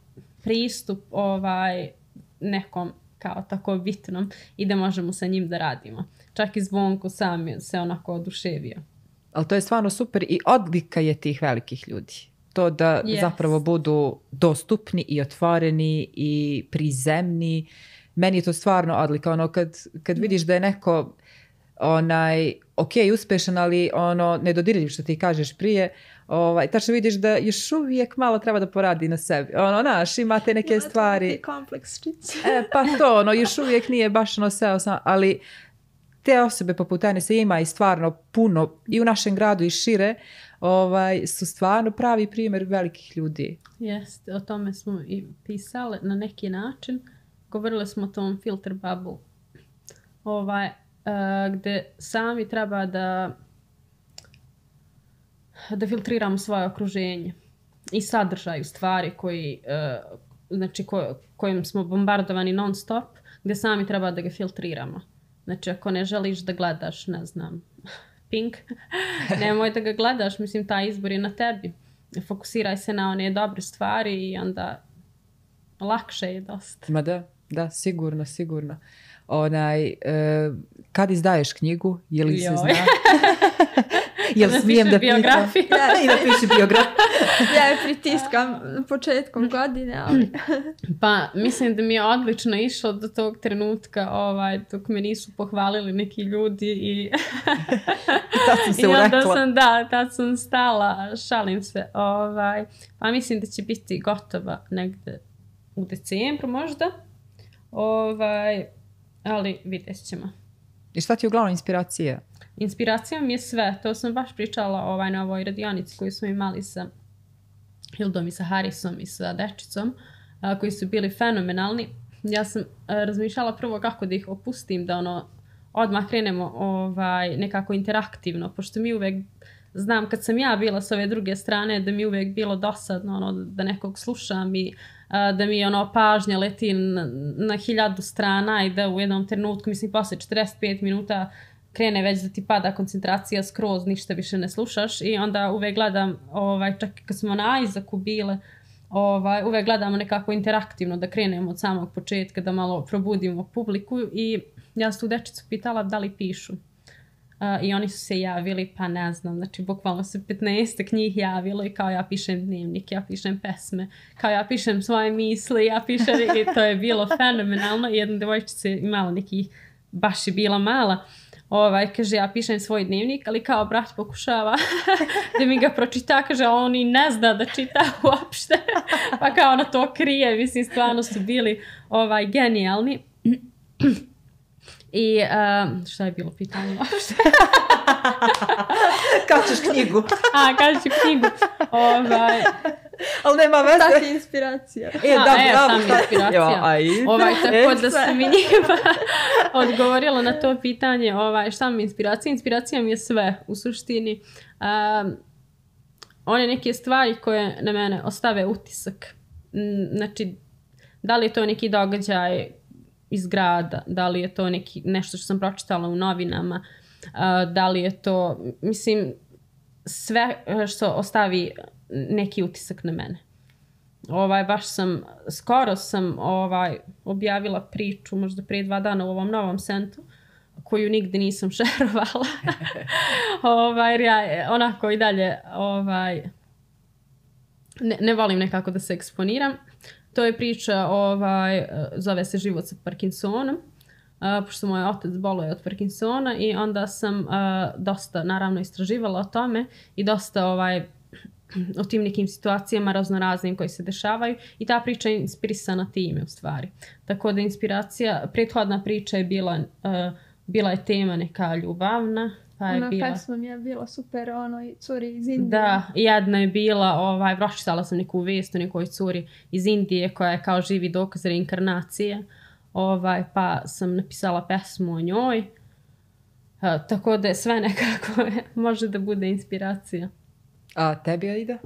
pristup ovaj, nekom kao tako bitnom i da možemo sa njim da radimo. Čak i Zvonko sam se onako oduševio. Ali to je stvarno super i odlika je tih velikih ljudi. To da yes. zapravo budu dostupni i otvoreni i prizemni. Meni je to stvarno odlika. Ono, kad, kad vidiš da je neko onaj, ok, uspešan, ali ono, nedodirljiv što ti kažeš prije, ovaj, tačno vidiš da još uvijek malo treba da poradi na sebi. Ono, naš, imate neke ja, stvari. Kompleks e, pa to, ono, još uvijek nije baš ono seo sam, ali te osobe poput Enesa ima i stvarno puno i u našem gradu i šire, ovaj, su stvarno pravi primjer velikih ljudi. Jeste, o tome smo i pisali na neki način. Govorili smo o tom filter bubble. Ovaj, uh, gdje sami treba da da filtriramo svoje okruženje i sadržaj u stvari koji, uh, znači ko, kojim smo bombardovani non stop, gdje sami treba da ga filtriramo. Znači ako ne želiš da gledaš, ne znam, Pink, nemoj da ga gledaš, mislim taj izbor je na tebi. Fokusiraj se na one dobre stvari i onda lakše je dosta. Ma da, da, sigurno, sigurno. Onaj, e, kad izdaješ knjigu, je li se zna? Jel smijem da pitam? biografiju. I da piše biografiju. Ja je pritiskam početkom godine, ali... Pa mislim da mi je odlično išlo do tog trenutka ovaj, dok me nisu pohvalili neki ljudi i, I tad sam se i onda urekla. sam, da, tad sam stala, šalim se. Ovaj, pa mislim da će biti gotova negde u decembru možda. Ovaj, ali vidjet ćemo. I šta ti je uglavnom inspiracija? Inspiracija mi je sve. To sam baš pričala ovaj, na ovoj radionici koju smo imali sa Hildom i sa Harisom i sa dečicom, a, koji su bili fenomenalni. Ja sam a, razmišljala prvo kako da ih opustim, da ono odmah krenemo ovaj, nekako interaktivno, pošto mi uvek znam kad sam ja bila s ove druge strane da mi uvek bilo dosadno ono, da nekog slušam i a, da mi ono pažnja leti na, na hiljadu strana i da u jednom trenutku, mislim posle četrdeset pet minuta krene već da ti pada koncentracija skroz, ništa više ne slušaš i onda uvek gledam, ovaj, čak kad smo na Isaacu bile, ovaj, uvek gledamo nekako interaktivno da krenemo od samog početka, da malo probudimo publiku i ja sam tu dečicu pitala da li pišu. Uh, I oni su se javili, pa ne znam, znači bukvalno se petnaestak njih javilo i kao ja pišem dnevnik, ja pišem pesme, kao ja pišem svoje misli, ja pišem i to je bilo fenomenalno. Jedna devojčica je imala nekih, baš je bila mala, ovaj, kaže ja pišem svoj dnevnik, ali kao brat pokušava da mi ga pročita, kaže on i ne zna da čita uopšte, pa kao ona to krije, mislim stvarno su bili ovaj, genijalni. I uh, šta je bilo pitanje uopšte? Kad ćeš knjigu? A, kad ću knjigu? Ovaj, Ali nema veze. Šta ti je inspiracija? E, a, da, e, bravo, sam šta- inspiracija. Jo, a i- Ovaj, tako da sve. sam mi njima odgovorila na to pitanje ovaj, šta mi je inspiracija. Inspiracija mi je sve u suštini. Um, one neke stvari koje na mene ostave utisak. Mm, Znači, da li je to neki događaj iz grada, da li je to neki, nešto što sam pročitala u novinama, uh, da li je to, mislim, sve što ostavi neki utisak na mene. Ovaj, baš sam, skoro sam ovaj, objavila priču, možda prije dva dana u ovom novom sentu, koju nigde nisam šerovala. ovaj, jer ja onako i dalje ovaj, ne, ne volim nekako da se eksponiram. To je priča, ovaj, zove se Život sa Parkinsonom, uh, pošto moj otac boluje od Parkinsona i onda sam uh, dosta naravno istraživala o tome i dosta ovaj, o tim nekim situacijama raznoraznim koji se dešavaju i ta priča je inspirisana time u stvari. Tako da inspiracija, prethodna priča je bila, uh, bila je tema neka ljubavna, pa je Ona bila... pesma mi je bila super, ono i curi iz Indije. Da, jedna je bila, ovaj, pročitala sam neku vijest o nekoj curi iz Indije koja je kao živi dokaz reinkarnacije, ovaj, pa sam napisala pesmu o njoj, uh, tako da je sve nekako može da bude inspiracija. A tebi, Aida?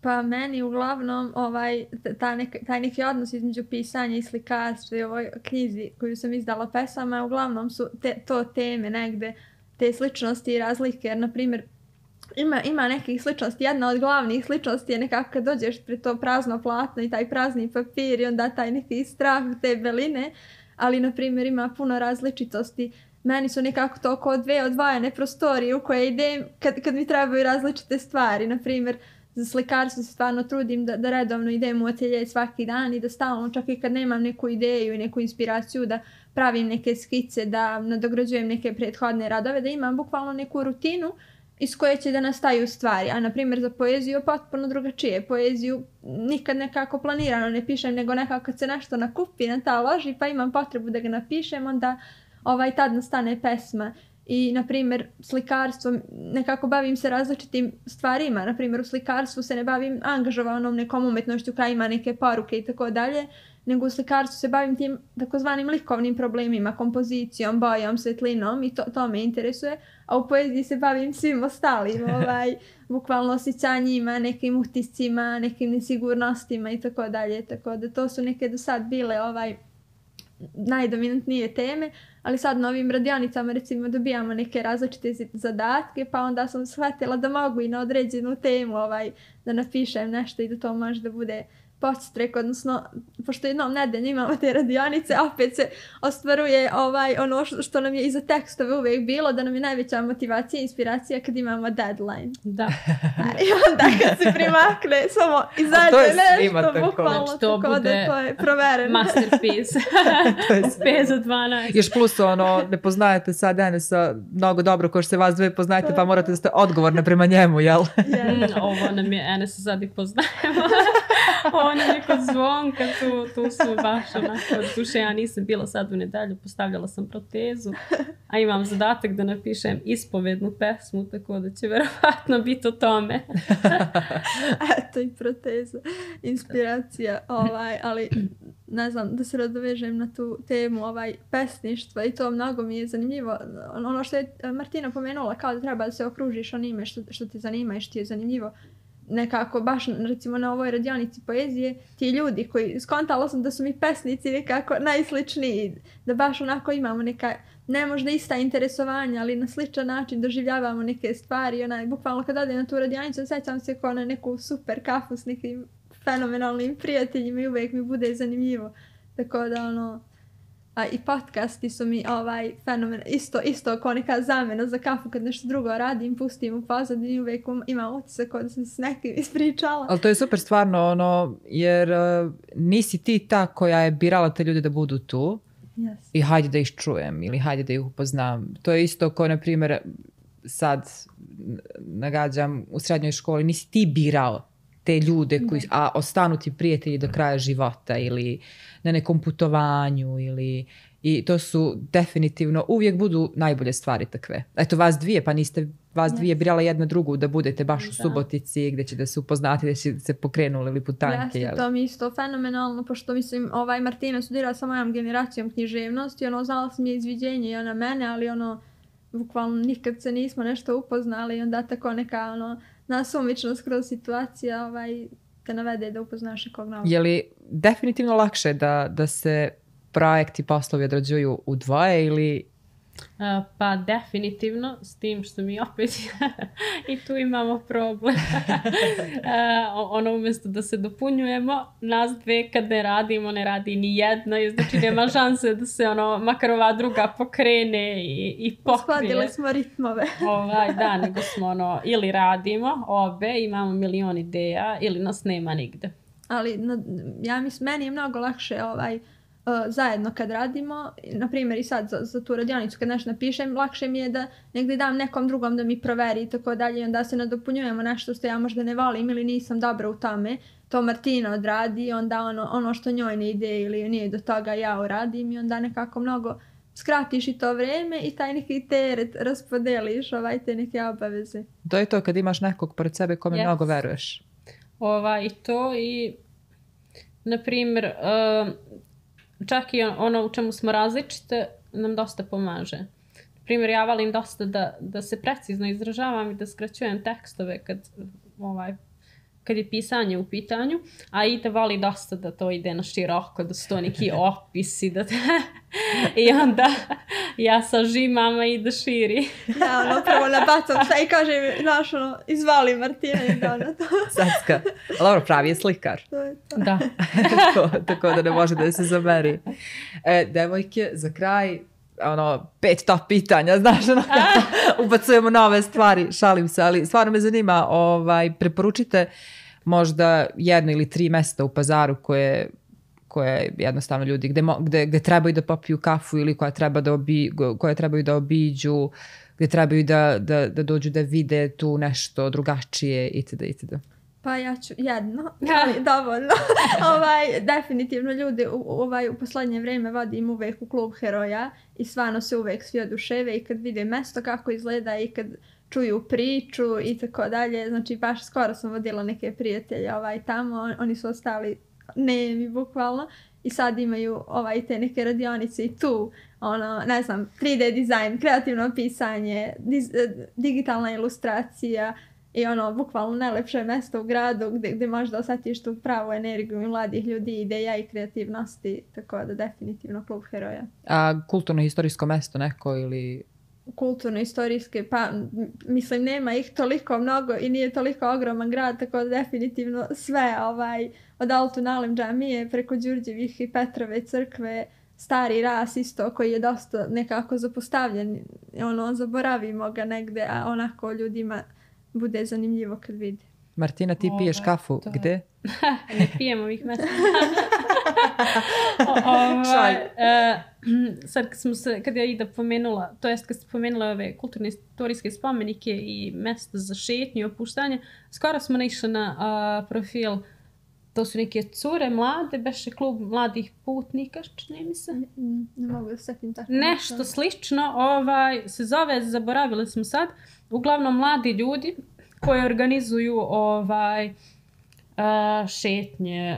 Pa meni uglavnom ovaj, ta neka, taj neki odnos između pisanja i slikarstva i ovoj knjizi koju sam izdala pesama, uglavnom su te, to teme negde, te sličnosti i razlike, jer na primjer ima, ima nekih sličnosti, jedna od glavnih sličnosti je nekako kad dođeš pred to prazno platno i taj prazni papir i onda taj neki strah te beline, ali na primjer ima puno različitosti. Meni su nekako to oko dve odvojene prostorije u koje idem kad, kad mi trebaju različite stvari. Na primjer, za slikarstvo se stvarno trudim da, da redovno idem u atelje svaki dan i da stalno, čak i kad nemam neku ideju i neku inspiraciju, da pravim neke skice, da nadograđujem neke prethodne radove, da imam bukvalno neku rutinu iz koje će da nastaju stvari. A na primjer za poeziju potpuno drugačije. Poeziju nikad nekako planirano ne pišem, nego nekako kad se nešto nakupi, nataloži, pa imam potrebu da ga napišem, onda ovaj, tad nastane pesma. I, na primjer, slikarstvom nekako bavim se različitim stvarima. Na primjer, u slikarstvu se ne bavim angažovanom nekom umetnošću koja ima neke poruke i tako dalje, nego u slikarstvu se bavim tim takozvanim likovnim problemima, kompozicijom, bojom, svetlinom i to, to me interesuje. A u poeziji se bavim svim ostalim, ovaj, bukvalno osjećanjima, nekim utiscima, nekim nesigurnostima i tako dalje. Tako da to su neke do sad bile ovaj, najdominantnije teme, ali sad na ovim radionicama recimo dobijamo neke različite zadatke, pa onda sam shvatila da mogu i na određenu temu ovaj, da napišem nešto i da to može da bude podstrek, odnosno, pošto jednom nedeljno imamo te radionice, opet se ostvaruje ovaj, ono što, što nam je iza tekstove uvijek bilo, da nam je najveća motivacija i inspiracija kad imamo deadline. Da. I onda kad se primakne, samo izađe nešto, bukvalno, znači, to tako bude da to je provereno. Masterpiece. pet za dvanaest. Još plus ono, ne poznajete sad Enesa mnogo dobro ko što se vas dve poznajete, pa morate da ste odgovorne prema njemu, jel? Yeah. Mm, ovo nam je Enesa sad i poznajemo. Ovo nam je kod Zvonka, tu, tu su baš onako, duše ja nisam bila sad u nedelju, postavljala sam protezu, a imam zadatak da napišem ispovednu pesmu, tako da će verovatno biti o tome. Eto i proteza, inspiracija, ovaj, ali ne znam, da se nadovežem na tu temu ovaj, pesništva i to mnogo mi je zanimljivo. Ono što je Martina pomenula, kao da treba da se okružiš onime što, što te zanima i što ti je zanimljivo. Nekako baš recimo na ovoj radionici poezije ti ljudi koji skontala sam da su mi pesnici nekako najsličniji, da baš onako imamo neka ne možda ista interesovanja, ali na sličan način doživljavamo neke stvari. Onaj, bukvalno kad odem na tu radionicu sećam se kao na neku super kafu s nekim fenomenalnim prijateljima i uvijek mi bude zanimljivo. Tako da ono, a i podcasti su mi ovaj fenomen, isto, isto kao neka zamjena za kafu kad nešto drugo radim, pustim u pozadini, uvijek imam utisak kao da sam se s nekim ispričala. Ali to je super stvarno, ono, jer uh, nisi ti ta koja je birala te ljude da budu tu Yes. i hajde da ih čujem ili hajde da ih upoznam. To je isto kao, na primjer, sad nagađam u srednjoj školi, nisi ti birao te ljude koji, a ostanu ti prijatelji do kraja života ili na nekom putovanju ili, i to su definitivno uvijek budu najbolje stvari takve. Eto vas dvije, pa niste vas dvije birala jedna drugu da budete baš u Subotici gdje ćete se upoznati, da ćete se pokrenuli ili putanjke. Jeste, to mi isto fenomenalno, pošto mislim, ovaj Martina studira sa mojom generacijom književnosti, ono, znala sam je izviđenje i ona mene, ali ono, bukvalno nikad se nismo nešto upoznali i onda tako neka, ono, nasumičnost kroz situacija, ovaj, te navede da upoznaš nekog novog. Je li definitivno lakše da, da se projekti, poslovi odrađuju u dvoje ili... Uh, pa definitivno, s tim što mi opet i tu imamo problem. uh, ono umjesto da se dopunjujemo, nas dve kad ne radimo, ne radi ni jedna, i znači nema šanse da se ono, makar ova druga pokrene i, i pokrije. Skladili smo ritmove. ovaj, da, nego smo ono, ili radimo obe, imamo milion ideja, ili nas nema nigde. Ali na, ja mislim, meni je mnogo lakše ovaj, Uh, zajedno kad radimo, na primjer i sad za, za tu radionicu kad nešto napišem, lakše mi je da negdje dam nekom drugom da mi proveri i tako dalje i onda se nadopunjujemo nešto što ja možda ne volim ili nisam dobra u tome, to Martina odradi i onda ono, ono što njoj ne ide ili nije do toga ja uradim i onda nekako mnogo skratiš i to vrijeme i taj neki teret raspodeliš, ovaj, te neke obaveze. To je to kad imaš nekog pored sebe kome yes. mnogo veruješ. Ova, i to i na primjer uh, čak i ono u čemu smo različite nam dosta pomaže. Na primjer, ja volim dosta da, da se precizno izražavam i da skraćujem tekstove kad, ovaj, kad je pisanje u pitanju, a Ida voli dosta da to ide na široko, da su to neki opisi. Da I onda ja sažimam, a Ida širi. Ja, ono, prvo nabacam šta i kažem, znaš, ono, izvali Martina i da to. Sacka. Ali dobro, pravi je slikar. To je to. Da. tako, tako da ne može da se zameri. E, devojke, za kraj, ono, pet top pitanja, znaš, ono, ubacujemo nove stvari, šalim se, ali stvarno me zanima, ovaj, preporučite možda jedno ili tri mjesta u Pazaru koje, koje jednostavno ljudi, gde, gde, gde trebaju da popiju kafu ili koja, treba da obi, koje trebaju da obiđu, gde trebaju da, da, da dođu da vide tu nešto drugačije itd. itd. Pa ja ću jedno, ali dovoljno. ovaj, definitivno ljudi u, ovaj, u posljednje vrijeme vodim uvijek u klub heroja i stvarno se uvijek svi oduševe i kad vide mjesto kako izgleda i kad čuju priču i tako dalje. Znači baš skoro sam vodila neke prijatelje ovaj, tamo, oni su ostali nemi bukvalno i sad imaju ovaj, te neke radionice i tu, ono, ne znam, tri D dizajn, kreativno pisanje, diz, digitalna ilustracija, i ono, bukvalno najlepše mjesto u gradu gdje, gdje možda osjetiš tu pravu energiju mladih ljudi, ideja i kreativnosti, tako da definitivno klub heroja. A kulturno-historijsko mjesto neko ili... kulturno-istorijske, pa mislim nema ih toliko mnogo i nije toliko ogroman grad, tako da definitivno sve ovaj, od Altunalem džamije preko Đurđevih i Petrove crkve, Stari Ras isto koji je dosta nekako zapostavljen, ono, zaboravimo ga negde, a onako ljudima bude zanimljivo kad vidi. Martina, ti piješ Ovaj, kafu, to- gde? Ne pijem ovih mesta. ovaj, e, sad kad, smo se, kad je Ida pomenula, to jest kad ste pomenula ove kulturne istorijske spomenike i mesta za šetnju i opuštanje, skoro smo naišli na a, profil, to su neke cure mlade, beše klub mladih putnika, čini mi se. Mm, Ne mogu da se setim tako. Nešto slično, ovaj, se zove, zaboravili smo sad, uglavnom mladi ljudi koji organizuju ovaj, a, šetnje,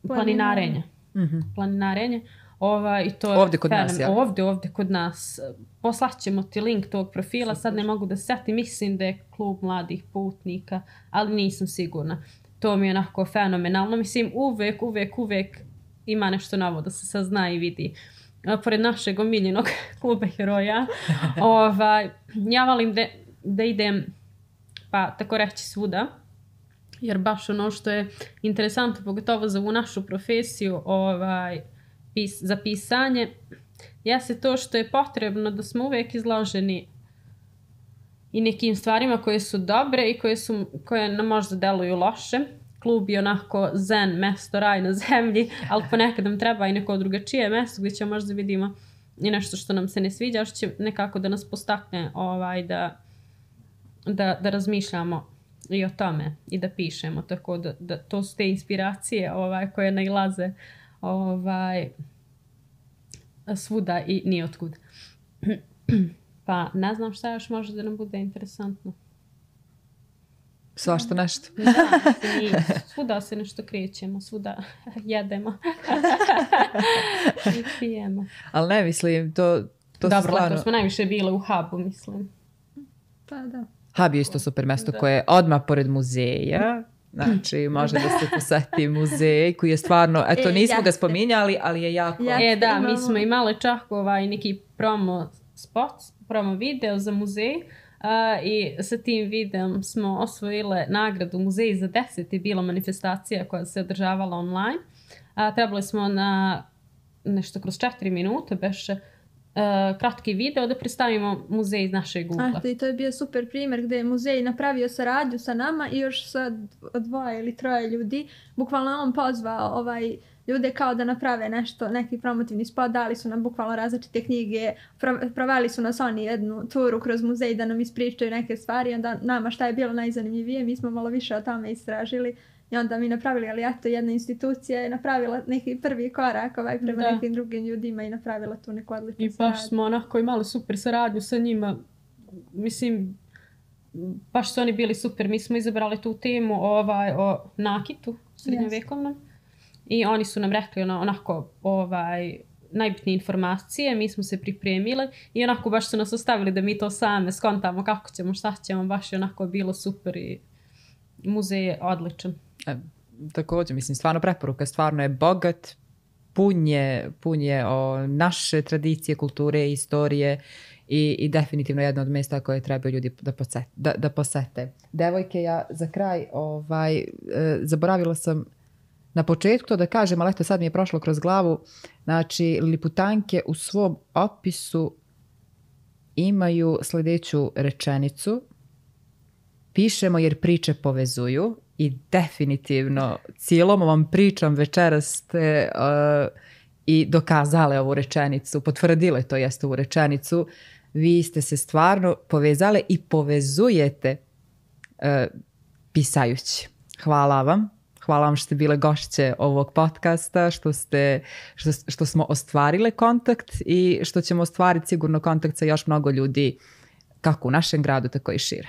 planinarenje. Mhm. planinarenje. Ovaj, i to je Ovdje kod nas, fenomen- ja? Ovdje, ovdje kod nas. Poslaćemo ti link tog profila, sad ne mogu da se setim, mislim da je klub mladih putnika, ali nisam sigurna. To mi je onako fenomenalno. Mislim, uvek, uvek, uvek ima nešto novo da se sazna i vidi. A, pored našeg omiljenog kluba heroja, ovaj, ja volim da, da idem, pa tako reći, svuda. Jer baš ono što je interesantno, pogotovo za ovu našu profesiju, ovaj, pis, za pisanje, jeste to što je potrebno da smo uvijek izloženi i nekim stvarima koje su dobre i koje, su, koje nam možda deluju loše. Klub je onako zen, mesto, raj na zemlji, ali ponekad nam treba i neko drugačije mesto gdje ćemo možda vidimo i nešto što nam se ne sviđa, što će nekako da nas postakne ovaj, da, da, da razmišljamo i o tome i da pišemo, tako da, da to su te inspiracije ovaj, koje nailaze ovaj, svuda i nijotkud. Pa ne znam šta još može da nam bude interesantno. Svašta nešto. Da, i svuda se nešto krećemo, svuda jedemo i pijemo. Ali ne mislim, to, to su Dobro, stvarno... leto smo najviše bile u hubu, mislim. Pa da. Hub je isto super mesto Da. koje je odmah pored muzeja. Znači, može da se poseti muzej koji je stvarno, eto E, nismo ga jeste. spominjali, ali je jako... Ja- E da, mi imamo- smo imali čak ovaj neki promo spot, promo video za muzej. Uh, i sa tim videom smo osvojile nagradu Muzej za deset je bila manifestacija koja se održavala online. Uh, trebali smo na nešto kroz četiri minute beše uh, kratki video da predstavimo muzej iz našeg ugla. A, i to je bio super primjer gdje je muzej napravio saradnju sa nama i još sa dvoje ili troje ljudi. Bukvalno je on pozvao ovaj, ljude kao da naprave nešto, neki promotivni spot, dali su nam bukvalno različite knjige, pro- proveli su nas oni jednu turu kroz muzej da nam ispričaju neke stvari, onda nama šta je bilo najzanimljivije, mi smo malo više o tome istražili i onda mi napravili, ali eto jedna institucija je napravila neki prvi korak ovaj, prema Da. nekim drugim ljudima i napravila tu neku odličnu I baš saradnju. smo onako imali super saradnju sa njima. Mislim, baš su oni bili super. Mi smo izabrali tu temu ovaj, o nakitu srednjovekovnom. I oni su nam rekli ono, onako ovaj, najbitnije informacije. Mi smo se pripremile i onako baš su nas ostavili da mi to same skontamo kako ćemo, šta ćemo. Baš je onako bilo super i muzej je odličan. E, također, mislim, stvarno preporuka, stvarno je bogat, pun je, pun je o naše tradicije, kulture, istorije i, i definitivno jedno od mjesta koje treba ljudi da posete. Da, da posete. Devojke, ja za kraj ovaj, e, zaboravila sam na početku to da kažem, ali eto sad mi je prošlo kroz glavu. Znači, Liputanke u svom opisu imaju sljedeću rečenicu. Pišemo jer priče povezuju i definitivno cijelom ovom pričom večeras ste uh, i dokazale ovu rečenicu, potvrdile to jest ovu rečenicu. Vi ste se stvarno povezale i povezujete uh, pisajući. Hvala vam. Hvala vam što ste bile gošće ovog podcasta, što, ste, što, što smo ostvarile kontakt i što ćemo ostvariti sigurno kontakt sa još mnogo ljudi kako u našem gradu, tako i šire.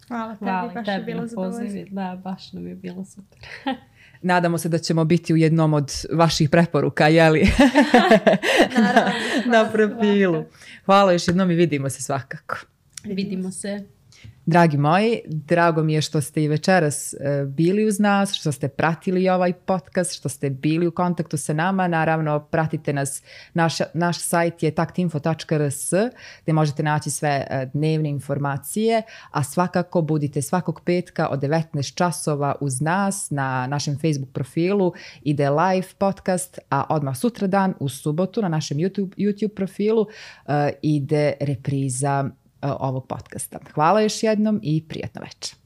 Hvala tebi, Hvala baš je tebi bilo na zadovoljstvo. pozivu. Da, baš nam je bilo super. Nadamo se da ćemo biti u jednom od vaših preporuka, jeli? Naravno, Na profilu. Hvala još jednom i vidimo se svakako. Vidimo se. Dragi moji, drago mi je što ste i večeras bili uz nas, što ste pratili ovaj podcast, što ste bili u kontaktu sa nama. Naravno, pratite nas, naš, naš sajt je taktinfo tačka r s gdje možete naći sve dnevne informacije, a svakako budite svakog petka od devetnaest časova uz nas na našem Facebook profilu. Ide live podcast, a odmah sutradan u subotu na našem YouTube, YouTube profilu uh, ide repriza ovog podcasta. Hvala još jednom i prijatno večer.